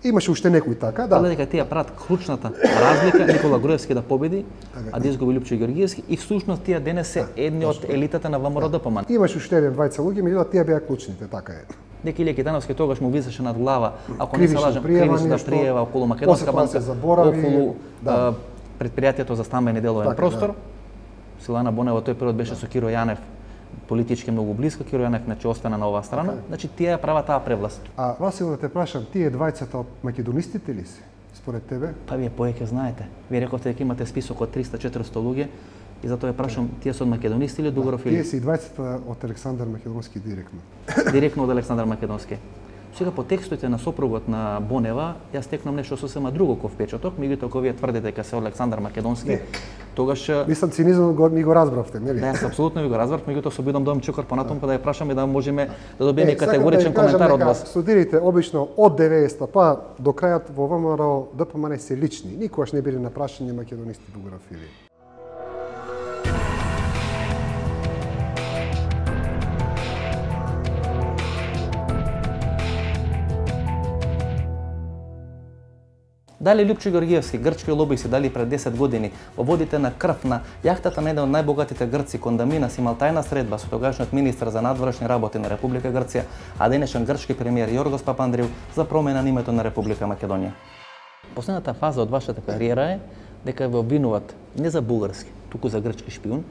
Имаше уште некои така, да. Дека тие прават клучната разлика Никола Груевски да победи, а да изгуби Лјупчо Ѓоргиевски и всушност тие денес се едни од елитата на ВМРО-ДПМН. Имаше уште еден двајца луѓе, меѓутоа тие беа клучните, така е. Дека Илија Китановски тогаш му висеше над глава, ако не се лажам, кривична пријава околу Македонска банка, околу предпријатието за стамбени деловен простор. Силана Бонева тој период беше со Киро Јанев, политички многу близко, Киро Јанев значи остана на оваа страна, значи тие прават таа превласт. А Васил, да те прашам, тие двајцата од македонистите ли се, според тебе? Па вие повеќе знаете. Вие рековте дека имате список од 300-400 луѓе и затоа ја прашам, тие се од македонисти или Дугоров или? Тие се и двајцата од Александар Македонски директно. Директно од Александар Македонски. Сега по текстовите на сопругот на Бонева, јас стекнам нешто сосема друго ко впечаток, меѓутоа кога вие тврдите дека се Александар Македонски, тогаш мислам цинизмот ми го разбравте, нели? Да, јас апсолутно ви го разбрав, меѓутоа се обидам да чекор понатаму па да ја прашаме да можеме да добиеме категоричен коментар од вас. Студирите обично од 90-та па до крајот во ВМРО ДПМН се лични, никогаш не биле на прашање македонисти Дугорафили. Дали Лјупчо Ѓоргиевски, грчки лобиси, дали пред 10 години во водите на крв на јахтата на еден од најбогатите грци Кондаминас имал тајна средба со тогашниот министар за надворешни работи на Република Грција, а денешен грчки премиер Јоргос Папандреу за промена на името на Република Македонија. Последната фаза од вашата кариера е дека ве обвинуваат не за бугарски, туку за грчки шпион,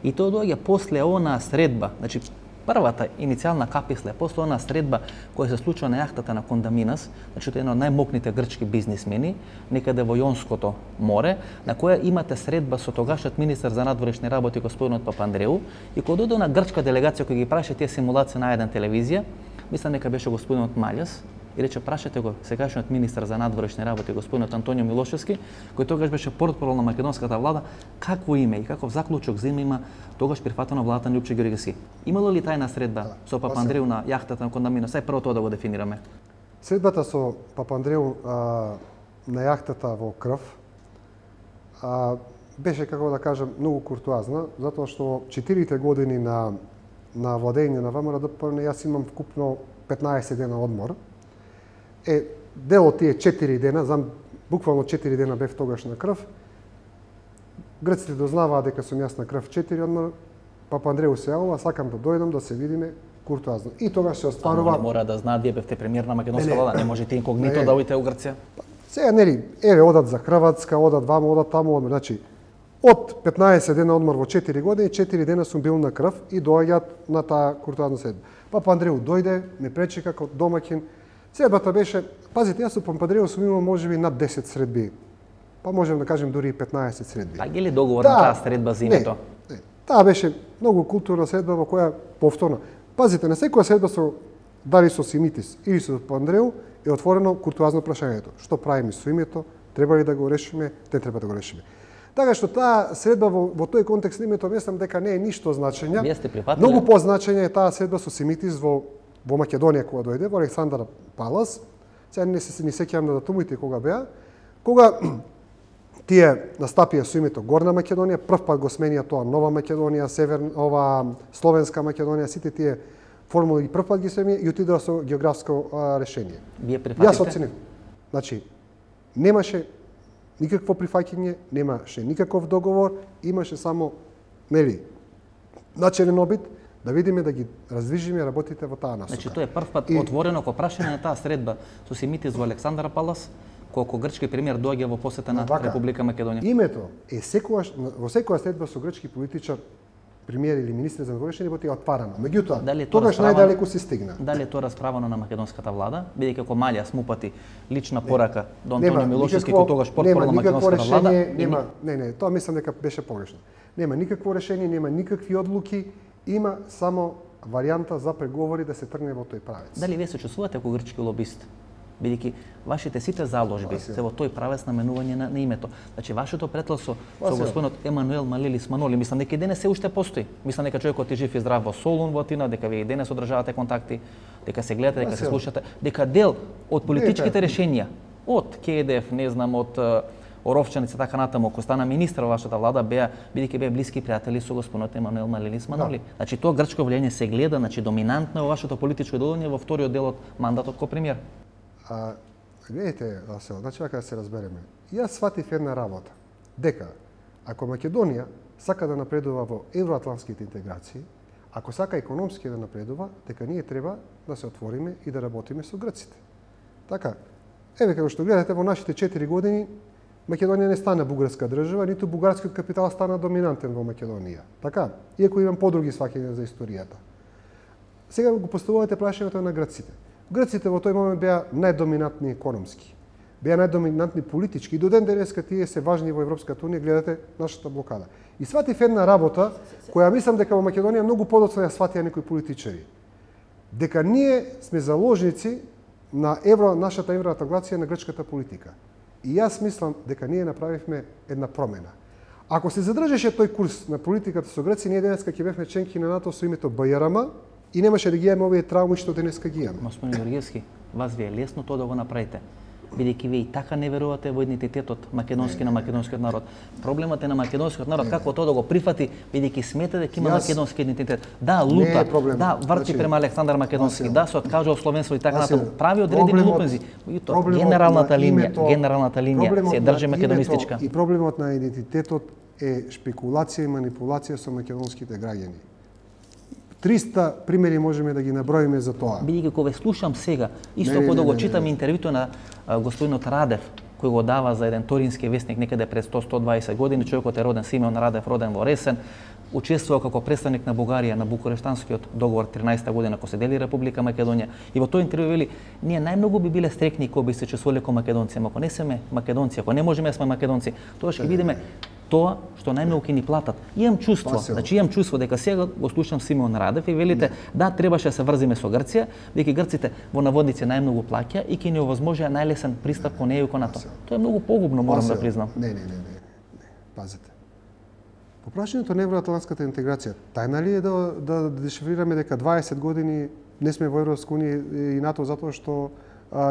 и тоа доаѓа после онаа средба, значи првата иницијална каписла, после онаа средба која се случува на јахтата на Кондаминас, значи тоа е едно од најмокните грчки бизнисмени, некаде во Јонското море, на која имате средба со тогашниот министар за надворешни работи господинот Папандреу, и кога дојде на грчка делегација која ги праша тие симулации на еден телевизија, мислам дека беше господинот Маљас, и рече прашате го сегашниот министар за надворешни работи господинот Антонио Милошевски, кој тогаш беше портпарол на македонската влада, какво име и каков заклучок за име има тогаш прифатено владата на Лјупчо Ѓоргиевски. Имало ли тајна средба со Папандреу на јахтата на Кондаминас? Сај прво тоа да го дефинираме. Средбата со Папандреу на јахтата во крв беше, како да кажам, многу куртуазна, затоа што 4 години на владење на ВМРО-ДПМН јас имам вкупно 15 дена одмор. Дел од тие 4 дена, буквално 4 дена бев тогаш на крв. Грците дознаваа дека сум јас на крв 4 одмор. Папандреу се јавува, сакам да дојдам да се видиме куртуазно. И тогаш се остварува. Мора да знаат, вие бевте премиер на македонска влада, не можете инкогнито да одите у Грција. Сега нели, еве одат за Хрватска, одат вамо, одат таму, одмор. Значи, од 15 дена одмор во 4 години, 4 дена сум бил на крв и доаѓаат на таа куртуазна средба. Папандреу дојде, ме пречека како домаќин. Средбата беше, пазите, јас со Папандреу сум имал можеби над 10 средби. Па можем да кажем дури и 15 средби. Па ги ли договор на таа средба за името? Не. Таа беше многу културна средба во која повторно. Пазите, на секоја средба со дали со Симитис или со Папандреу е отворено куртуазно прашањето. Што правиме со името? Треба ли да го решиме? Не треба да го решиме. Така што таа средба во тој контекст на името мислам дека не е ништо значења. Вие сте прифатиле? Многу позначење е таа средба со Симитис во Македонија кога дојде, во Александар Палас. Сега не се ни сеќавам на датумите кога беа. Кога тие настапија со името Горна Македонија, прв пат го сменија тоа Нова Македонија, Словенска Македонија, сите тие формули ги прв пат ги сменија и отидоа со географско решение. Вие прифатите? Јас оценив. Значи, немаше никакво прифаќање, немаше никаков договор, имаше само, начелен обид да видиме да ги раздвижиме работите во таа насока. Значи, тоа е прв пат отворено ко прашање на таа средба со Симитис во Александар Палас, колку грчки премиер доаѓа во посета на Република Македонија. Името е секогаш во секоја следба со грчки политичар, премиер или министр за външни работи е отварано. Меѓутоа, тогаш најдалеку се стигна. Дали е тоа расправано на македонската влада, бидејќи како Малја смупати лична порака до Антонио Милошевски, кој тогаш портфол на македонската влада? Не, тоа мислам дека беше погрешно. Нема никакво решение, нема никакви одлуки, има само варијанта за преговори да се тргне во тој правец. Дали вие се чувствувате како грчки лобист? Бидејќи вашите сите заложби се во тој правец наменување на името. Значи вашето претlaso со господинот Емануел Малилис Маноли, мислам дека и денес се уште постои. Мислам дека човекот е жив и здрав во Солун, во Атина, дека вие и денес одржавате контакти, дека се гледате, дека се слушате, дека дел од политичките решенија од КДФ, не знам, од Оровчаница така натаму, кој стана министар во вашата влада, бидејќи беа блиски пријатели со господинот Емануел Малилис Маноли. Значи тоа грчко влијание се гледа, значи доминантно во вашето политичко делување во вториот дел од мандатот како премиер. Гледайте, Васил, значи вака да се разбереме. Јас сватив една работа, дека ако Македонија сака да напредува во евроатлантските интеграции, ако сака економски да напредува, дека ние треба да се отвориме и да работиме со грците. Така, еве како што гледате во нашите 4 години, Македонија не стана бугарска држава, ниту бугарскиот капитал стана доминантен во Македонија. Така, иако имам подруги сваќања за историјата. Сега го поставувате прашањето на грците. Грците во тој момент беа најдоминантни економски, беа најдоминантни политички и до ден денеска тие се важни во Европската унија, гледате нашата блокада. И сватив една работа која мислам дека во Македонија многу подоцна ја сватија некои политичари. Дека ние сме заложници на нашата евроинтеграција на грчката политика. И јас мислам дека ние направивме една промена. Ако се задржеше тој курс на политиката со Грција, ние денеска ќе бевме членки на НАТО со името БЈРМ и немаше да ги имаме овие трауми што денеска ги имаме. Господин Георгиевски, вас ви е лесно тоа да го направите, бидејќи вие и така не верувате во идентитетот македонски на македонскиот народ. Проблемот е на македонскиот народ како тоа да го прифати, бидејќи смета дека има македонски идентитет. Да, лута, да, врти према Александар Македонски, да, се откажа од словенство и така натаму. Прави одредени лупензи. Генералната линија се држи македонистичка. И проблемот на идентитетот е шпекулација и манипулација со македонските граѓани. 300 примери можеме да ги наброиме за тоа. Бидејќи кога слушам сега, исто кога го читам интервјуто на господинот Радев, кој го дава за еден торински вестник некаде пред 100-120 години, човекот е роден Симеон Радев, роден во Ресен, учествувал како представник на Бугарија на Букурештанскиот договор 13-та година кога се дели Република Македонија. И во тој интервју вели: ние најмногу би биле стрекни кога би се чувствувале како македонци, ако не сме македонци, ако не можеме да сме македонци, тоа ќе видиме тоа што најмногу ќе ни платат. Имам чувство, значи имам чувство дека сега го слушам Симеон Радев и велите да требаше да се врзиме со Грција, дека грците во наводници најмногу плаќа и ќе ни овозможија најлесен пристап кон ЕУ и кон НАТО. Тоа е многу погубно, морам да признам. Не. Пазете. По прашањето на евроатлантската интеграција, тајна ли е да дешифрираме дека 20 години не сме во Европска унија и НАТО затоа што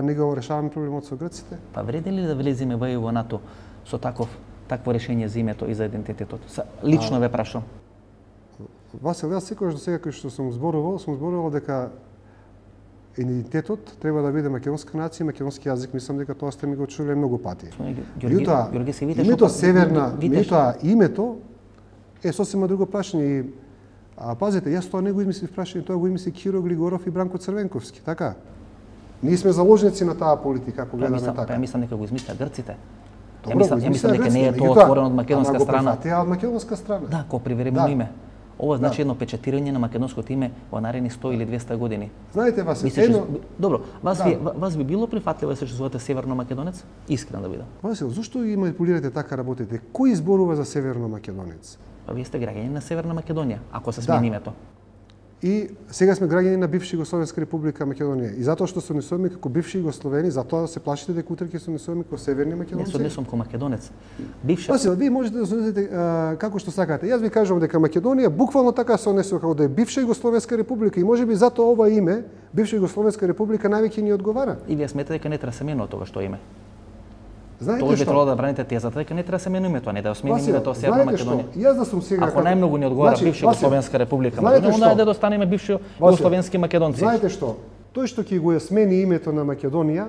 не го решаваме проблемот со грците? Па вреди ли да влеземе во ЕУ и НАТО со такво решение за името и за идентитетот? Лично ве прашам. Васил, јас секогаш до сега кој што сум зборувал дека идентитетот треба да биде македонска нација, македонски јазик, мислам дека тоа сте ми го чуле многу пати. Името е сосема друго прашање. Пазете, јас тоа не го измислив прашање, тоа го измисли Киро Глигоров и Бранко Црвенковски, така? Ние сме заложници на таа политика, ако гледаме така. Ја мислам дека го измислија грците. Ја мислам дека не е тоа отворено од македонска страна. Тоа од македонска страна. Да, ко привремено име. Ова значи едно печатирање на македонското име во наредни 100 или 200 години. Знаете, Добро, вас би било прифатливо да се чувствувате северно македонец? Искрен да бидам. Васил, зошто ги манипулирате така работите? Кој изборува за северно македонец? Па вие сте граѓани на Северна Македонија, ако се смени името. И сега сме граѓани на бивша Југословенска република Македонија. И затоа што се однесуваме како бивши југословени, затоа се плашите дека утре ќе се однесуваме како северни македонци. Не се однесувам како македонец. Васил, вие можете да се однесете како што сакате. Јас ви кажувам дека Македонија буквално така се однесува како да е бивша Југословенска република и можеби затоа ова име, бивша Југословенска република, највеќе ни одговара. И вие сметате дека не треба се менува тоа што име? Знаете Тоа би што? требало да браните тезата дека не треба да се менува тоа, не да смени името Северна знаете што? Македонија. Јас да сум сега Ако најмногу ни одговара бивша Југословенска република Македонија, onda да достанеме бивши југословенски македонци. Знаете што? Тој што ќе го смени името на Македонија,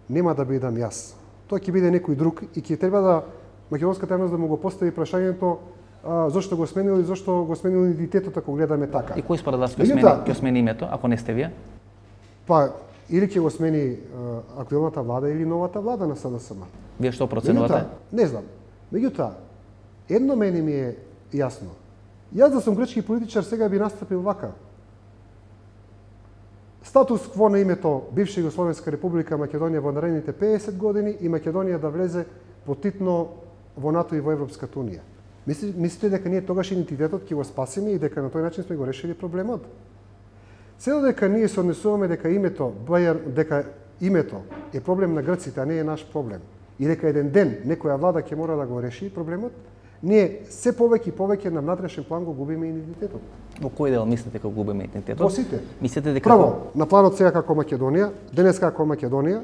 нема да бидам јас. Тоа ќе биде некој друг и ќе треба да македонската јавност да му го постави прашањето зошто го сменил и зошто го сменил идентитетот ако гледаме така. И кој според вас ќе смени името, ако не сте вие? Па или ќе го смени актуелната влада или новата влада на СДСМ. Вие што проценувате? Не знам. Меѓутоа, едно мене ми е јасно. Јас да сум грчки политичар сега би настапил вака. Статус кво на името бивша Југословенска република Македонија во наредните 50 години и Македонија да влезе потитно во НАТО и во Европската унија. Мислите дека ние тогаш идентитетот ќе го спасиме и дека на тој начин сме го решили проблемот? Се додека ние се однесуваме дека името е проблем на грците, а не е наш проблем, и дека еден ден некоја влада ќе мора да го реши проблемот, ние се повеќе и повеќе на внатрешен план го губиме идентитетот. Во кој дел мислите дека губиме идентитетот? Во сите. Мислите дека Прво, на планот сега како Македонија, денес како Македонија,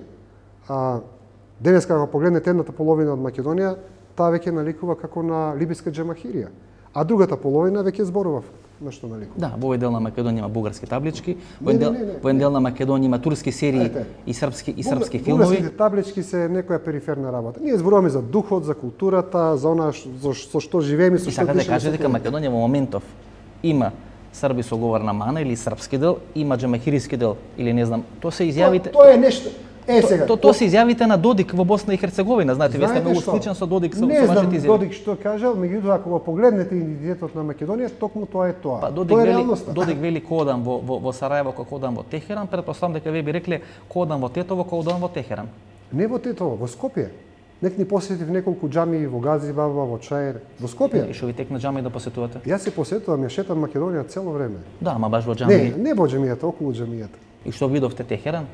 денес како погледнете едната половина од Македонија, таа веќе наликува како на либиска џамахирија, а другата половина веќе зборува на што наликува. Да, во овој дел на Македонија има бугарски таблички, во еден дел на Македонија има турски серии и српски филмови. Бугарските таблички се некоја периферна работа. Ние зборуваме за духот, за културата, за она со што живееме, со што дишеме. И сакате да кажете дека Македонија во моментов има срби со говорна мана или српски дел, има џамахириски дел или не знам. Тоа се изјавите. Тоа е нешто. Сега. Тоа се изјавите на Додик во Босна и Херцеговина, знаете, вие сте многу сличен со Додик со вашите изјави. Не знам Додик што кажал, меѓутоа ако го погледнете идентитетот на Македонија, токму тоа е тоа. Па Тоа е реалноста. Додик вели кодам во Сараево, кодам во Техеран, претпоставам дека вие би рекле кодам во Тетово, кодам во Техеран. Не во Тетово, во Скопје. Нек ни посетив неколку џамии во Газибаба, во Чаир, во Скопје. И што ви текна џамии да посетувате? Јас се посетувам, ја шетам Македонија цело време. Да, ама баш во џамии. Не во џамијата, околу џамијата. И што видовте Техеран?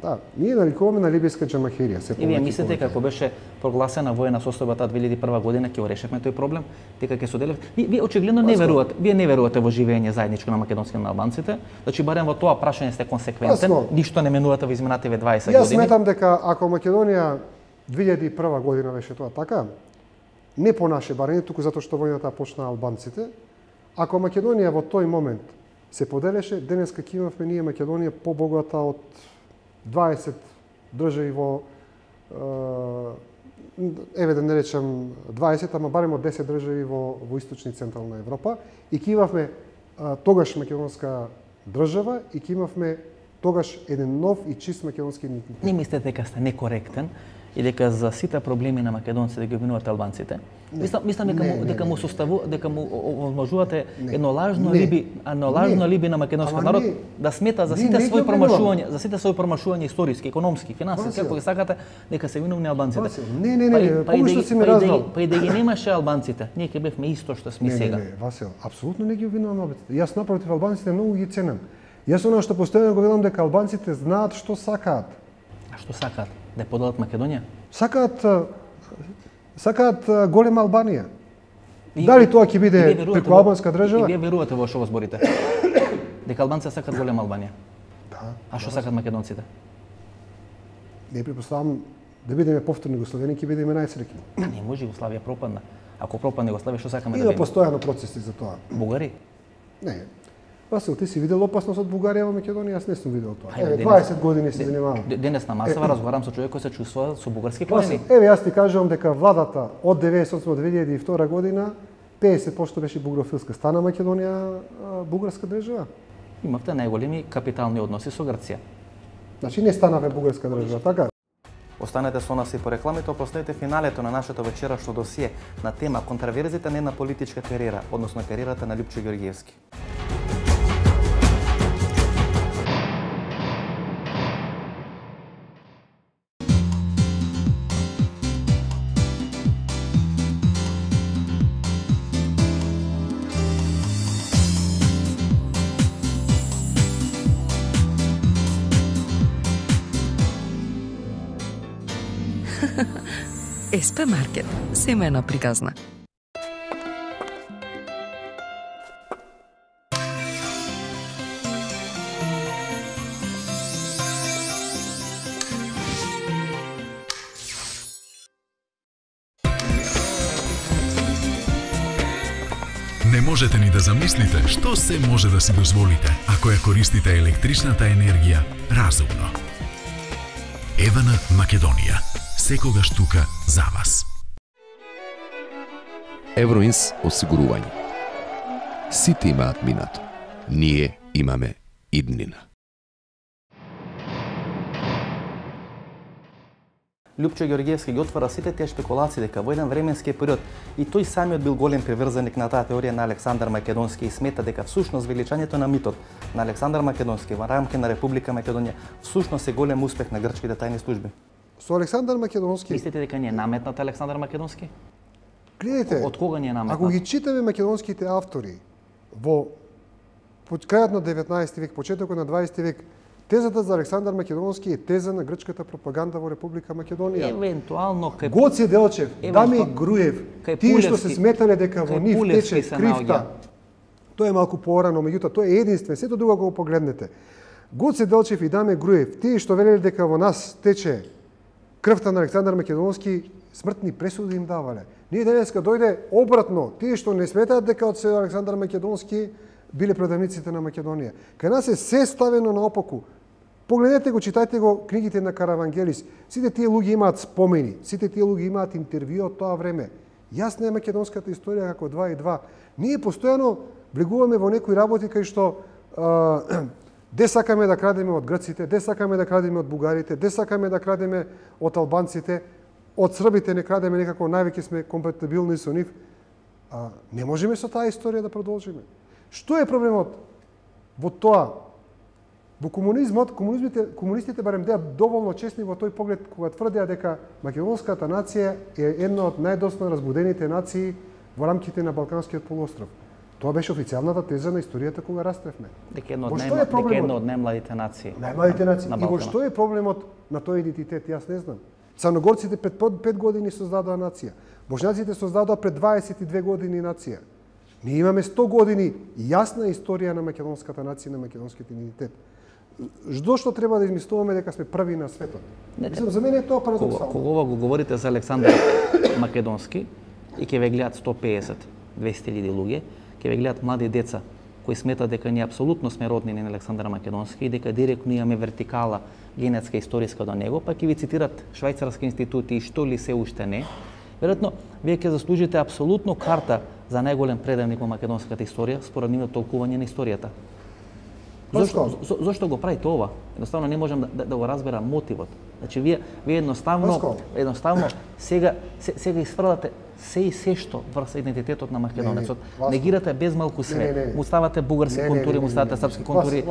Да, ние наликуваме на либиска џамахирија. И вие мислите како беше прогласена воена состојба таа 2001 година ќе го решевме тој проблем, дека ќе соделев. Вие очигледно не верувате, не верувате во живење заедничко на македонски на албанците, значи барем во тоа прашање сте консеквентен, ништо не менувате во изминативе 20 години. Јас сметам дека ако Македонија 2001 година беше тоа така, не по наше барање, туку затоа што војната почна албанците, ако Македонија во тој момент се поделеше, денеска ќе имавме ние Македонија побогата од 20 држави во еве да не речам 20, ама барем од 10 држави во источна и централна Европа и ќе имавме тогаш македонска држава и ќе имавме тогаш еден нов и чист македонски идентитет. Не мислите дека сте некоректен и дека за сите проблеми на македонците ги обвинувате албанците? Мислам дека му составува, дека му овозможувате едно лажно алиби на македонскиот народ да смета за сите своји промашувања историски, економски, финансиски, ако ги сакате, дека се виновни албанците. Не, погрешно си ме разбрал. Па и да ги немаше албанците, ние ќе бевме исто што сме сега. Не, Васил, апсолутно не ги обвинувам албанците. Јас напротив албанците многу ги ценам. Јас она што постојано го велам дека албанците знаат што сакаат. А што сакаат? Да поделат Македонија? Сакаат голема Албанија. Дали тоа ќе биде преку албанска држава? И вие верувате во што го зборите? Дека албанците сакаат голема Албанија? Да. А што сакаат македонците? Не претпоставам да бидеме повторно Југославени, ќе бидеме најсреќни. Не може, Југославија пропадна. Ако пропадне Југославија, што сакаме да видиме? видиме? Има постојано процеси за тоа. Бугари? Не. Васил, ти си видел опасност од Бугарија во Македонија? Јас не сум видел тоа. Еве, 20 години се занимавам. Денес на масава разговарам со човек кој се чувствува со бугарски корени. Еве, јас ти кажувам дека владата од 98 до 2002 година 50% беше бугрофилска. Стана Македонија бугарска држава. Имавте најголеми капитални односи со Грција. Значи не станаве бугарска држава, така? Останете со нас и по рекламите, последете финалето на нашето вечерашно досие на тема контраверзите на една политичка кариера, односно кариерата на Љупчо Ѓорѓиевски. СП Маркет, семејна приказна. Не можете ни да замислите што се може да си дозволите ако ја користите електричната енергија разумно. Евана Македонија. Секогаш тука за вас. Евроинс осигурување. Сите имаат минато. Ние имаме иднина. Лјупчо Ѓорѓевски ги отвара сите тие шпекулации дека во еден временски период и тој самиот бил голем приврзаник на таа теорија на Александар Македонски и смета дека всушност величањето на митот на Александар Македонски во рамки на Република Македонија всушност е голем успех на грчките тајни служби. Со Александар Македонски. Мислите дека не е наметнат Александар Македонски? Гледайте, од кога не е наметнат? Ако ги читаме македонските автори во крајот на 19 век, почетокот на 20 век, тезата за Александар Македонски е теза на грчката пропаганда во Република Македонија. Евентуално кај Гоце Делчев, Дами Груев, тие што се сметале дека во нив тече кривта. Тоа е малку порано, меѓутоа тој е единствен, сето друго го погледнете. Гоце Делчев и Даме Груев, тие што велеле дека во нас тече крвта на Александар Македонски, смртни пресуди им давале. Ние денеска дојде обратно, тие што не сметаат дека од се Александар Македонски биле предавниците на Македонија. Кај нас е се ставено наопаку. Погледнете го, читајте го книгите на Каравангелис. Сите тие луѓе имаат спомени, сите тие луѓе имаат интервју од тоа време. Јасна е македонската историја како 2 и 2. Ние постојано влегуваме во некои работи кај што де сакаме да крадеме од грците, де сакаме да крадеме од бугарите, де сакаме да крадеме од албанците, од србите не крадеме, некако највеќе сме компатибилни со нив. Не можеме со таа историја да продолжиме. Што е проблемот во тоа? Во комунизмот, комунистите барем деа доволно честни во тој поглед кога тврдеа дека македонската нација е една од најдосно разбудените нации во рамките на Балканскиот полуостров. Тоа беше официјалната теза на историјата кога растревме. Дека една од најмладите нации. Најмладите нации. И во што е проблемот на тој идентитет, јас не знам. Црногорците пред 5 години создадоа нација. Бошњаците создадоа пред 22 години нација. Ние имаме 100 години јасна историја на македонската нација, на македонскиот идентитет. Зошто треба да измислуваме дека сме први на светот? Мислам, за мене е тоа парадоксално. Кога го говорите за Александар Македонски и ќе ве гледат 150, 200.000 луѓе, ќе ве гледат млади деца кои сметат дека ние апсолутно сме роднини на Александар Македонски и дека директно имаме вертикала генетска историска до него, па ќе ви цитират швајцарски институти и што ли се уште не. Веројатно, вие ќе заслужите апсолутно карта за најголем предавник во македонската историја според нивното толкување на историјата. Зошто го правите ова? Едноставно не можам да го разберам мотивот. Значи вие едноставно сега изфрлате се што врз идентитетот на македонецот. Негирате без малку све. Му ставате бугарски контури, му ставате српски контури.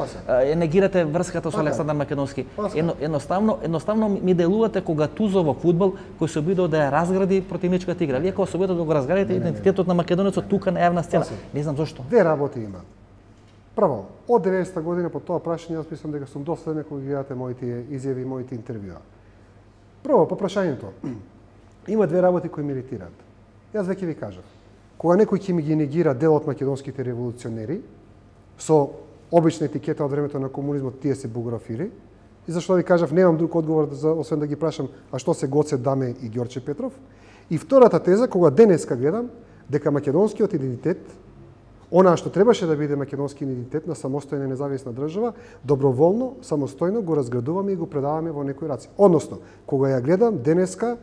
Негирате врската со Александар Македонски. Едноставно ми делувате кога Тузо во фудбал кој се обидува да ја разгради противничката игра. Вие кога се обидувате да го разградите идентитетот на македонецот тука на јавна сцена. Не знам зошто. Две работи има. Прво, од 90-та година по тоа прашање, јас мислам дека сум доследен кога гледате моите изјави и моите интервјуа. Прво, по прашањето, има две работи кои ме иритираат. Јас веќе ви кажав. Кога некој ќе ми ги негира дел од македонските револуционери, со обична етикета од времето на комунизмот, тие се бугарофили, и зашто ви кажав, немам друг одговор освен да ги прашам, а што се Гоце Даме и Ѓорче Петров. И втората теза, кога денеска гледам, дека македонскиот идентитет, она што требаше да биде македонски идентитет на самостојна и независна држава, доброволно, самостојно го разградуваме и го предаваме во некои раци. Односно, кога ја гледам денеска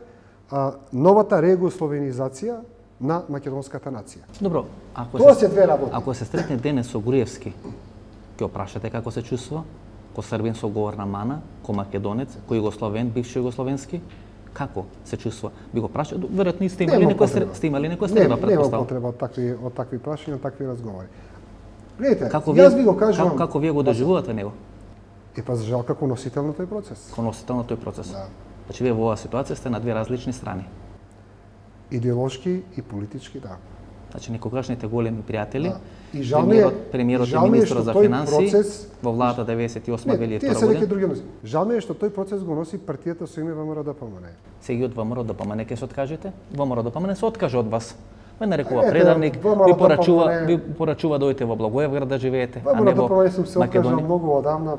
новата регусловенизација на македонската нација. Добро, тоа се две работи. Ако се сретне денес со Груевски, ќе опрашате како се чувствува? Ко србин со говорна мана, ко македонец, ко југословен, бивши југословенски? Како се чувствува? Би го прашал, веројатно сте имали некоја среда, Нема претпоставам. потреба од такви прашања, од такви разговори. Гледайте, јас ви го кажувам. Како вие го доживувате него? Па за жал како носител на тој процес. Како носител на тој процес. Да. Значи вие во оваа ситуација сте на две различни страни. Идеолошки и политички, да. Значи некогашните големи пријатели, и премиерот и министрот за финансии во владата 98-2002 Тие се веќе други носи. Жал ми е што тој процес го носи партијата со име ВМРО-ДПМН. Сега од ВМРО-ДПМН ќе се откажете? ВМРО-ДПМН се откаже од вас. Ме нарекува предавник, ви порачува да дојдете во Благоевград да живеете, а не во ВМРО-ДПМН сум се откажал Македонија. многу одамна.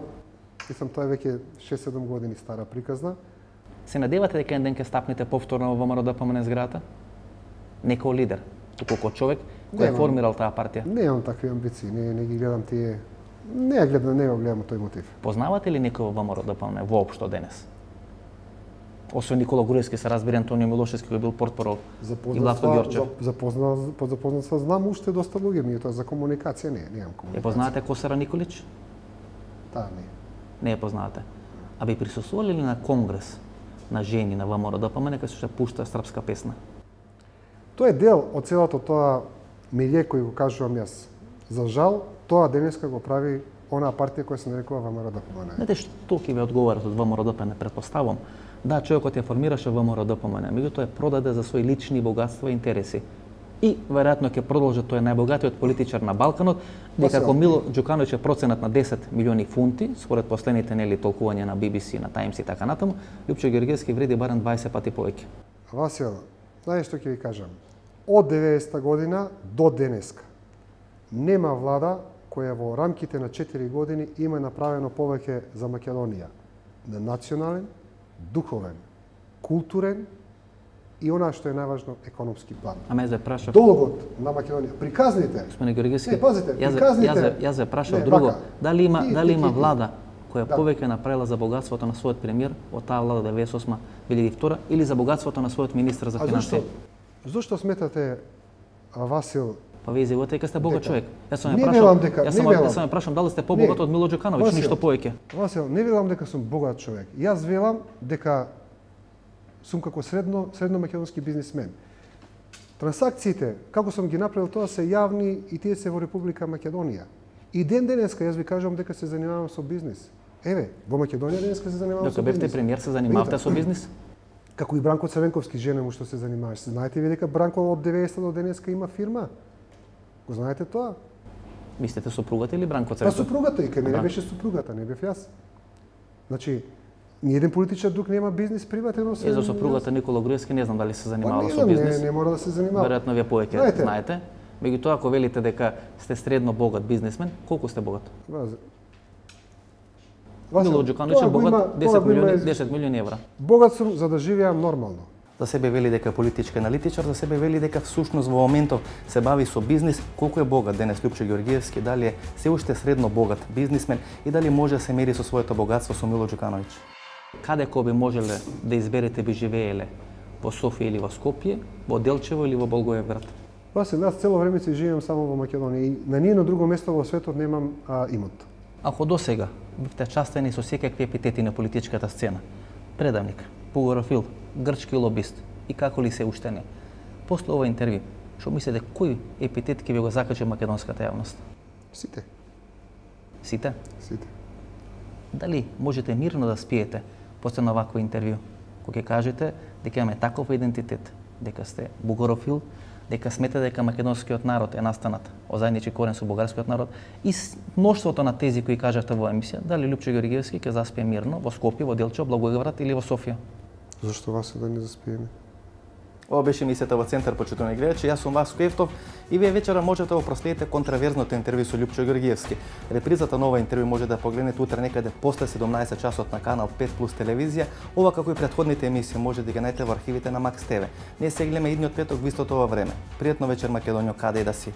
Мислам, тоа е веќе 6-7 години стара приказна. Се надевате дека еден ден ќе стапнете повторно во ВМРО-ДПМН зградата? Не како лидер, туку како човек кој е формирал таа партија? Немам такви амбиции, не ги гледам тие. Не го гледам тој мотив. Познавате ли некој во ВМРО-ДПМН воопшто денес? Освен Никола Груевски, се разбира Антонио Милошевски кој бил портпарол и Влатко Ѓорчев. Запознат знам уште доста луѓе, меѓутоа за комуникација немам комуникација. Ја познавате Косара Николич? Таа не. Не ја познавате. А би присуствувале ли на конгрес на жени на ВМРО-ДПМН кај се пушта српска песна? Тоа е дел од целото тоа милје кој го кажувам јас. За жал, тоа денеска го прави онаа партија која се нарекува ВМРО-ДПМН. Знаете што ќе ви одговарат од ВМРО-ДПМН, предпоставам? Да, човекот ја формираше ВМРО-ДПМН, меѓутоа ја продаде за своји лични богатства и интереси. И веројатно ќе продолжи, тој е најбогатиот политичар на Балканот, дека како Мило Ѓукановиќ е проценат на 10 милиони фунти, според последните толкувања на BBC, на Times и така натаму, Лјупчо Ѓорѓевски вреди барем 20 пати повеќе. Васил, знаеш што ќе ви кажам? Од 90-та година до денеска нема влада која во рамките на 4 години има направено повеќе за Македонија на национален, духовен, културен и она што е најважно економски план. А ме прашав. Долгот на Македонија. Приказните. Господине Ѓорѓевски. Не, пазите, приказните. Јас прашав друго. Дали има влада која повеќе направила за богатството на својот премиер од таа влада 98-2002 или за богатството на својот министер за финансии? Зошто сметате, Васил, па вие изјавувате дека сте богат човек. Јас сам ја прашам дали сте побогат од Мило Ѓукановиќ, ништо повеќе. Васил, не велам дека сум богат човек. Јас велам дека сум како средно македонски бизнисмен. Трансакциите, како сум ги направил тоа, се јавни и тие се во Република Македонија. И денеска јас ви кажувам дека се занимавам со бизнис. Еве, во Македонија денеска се занимавам со бизнис. Докога бевте премиер се занимавате со бизнис? Како и Бранко Црвенковски, жена му што се занимаваш. Знаете ви дека Бранко од 90 до денеска има фирма? Го знаете тоа? Мислите супругата или Бранко Па Црвенковски? супругата, и кај мене беше супругата, не бев јас. Значи, ниеден политичар друг нема бизнис приватен. И за супругата Никола Груевски не знам дали се занимавала со бизнис. Не мора да се занимава. Веројатно вие повеќе знаете. Меѓутоа, ако велите дека сте средно богат бизнисмен, колку сте богат? Мило Ѓукановиќ е богат 10 милиони евра. Богат сум за да живеам нормално. За себе вели дека е политички аналитичар, за себе вели дека всушност во моментов се бави со бизнис. Колку е богат денес Лјупчо Ѓорѓевски, дали е се уште средно богат бизнисмен и дали може да се мери со своето богатство со Мило Ѓукановиќ? Каде кој би можеле да изберете би живееле? Во Софија или во Скопје, во Делчево или во Болгоевград? Васил, јас цело време си живеам само во Македонија и на ниедно друго место во светот немам имот. Ако досега бивте частени со секакви епитети на политичката сцена, предавник, пугорофил, грчки лобист и како ли се уште не, после ова интервју, што мислите кој епитет ќе ви го закачи македонската јавност? Сите. Сите? Сите. Дали можете мирно да спиете после на вакво интервју, кога ќе кажете дека имаме таков идентитет, дека сте бугарофил, дека смета дека македонскиот народ е настанат од заеднички корен со бугарскиот народ и мноштвото на тези кои кажавте во емисија, дали Лјупчо Ѓорѓевски ќе заспие мирно во Скопје, во Делчево, Благоевград или во Софија? Зошто Васил да не заспиеме? Ова беше емисијата во Центар, почитувани гледачи. Јас сум Васко Евтов и вие вечера можете да проследите контраверзното интервју со Лјупчо Ѓорѓевски. Репризата на ова интервју може да погледнете утре некаде после 17 часот на канал 5+ телевизија. Ова како и претходните емисии може да ги најдете во архивите на Макс ТВ. Ние се гледаме идниот петок во истото ова време. Пријатно вечер Македонијо, каде и да си.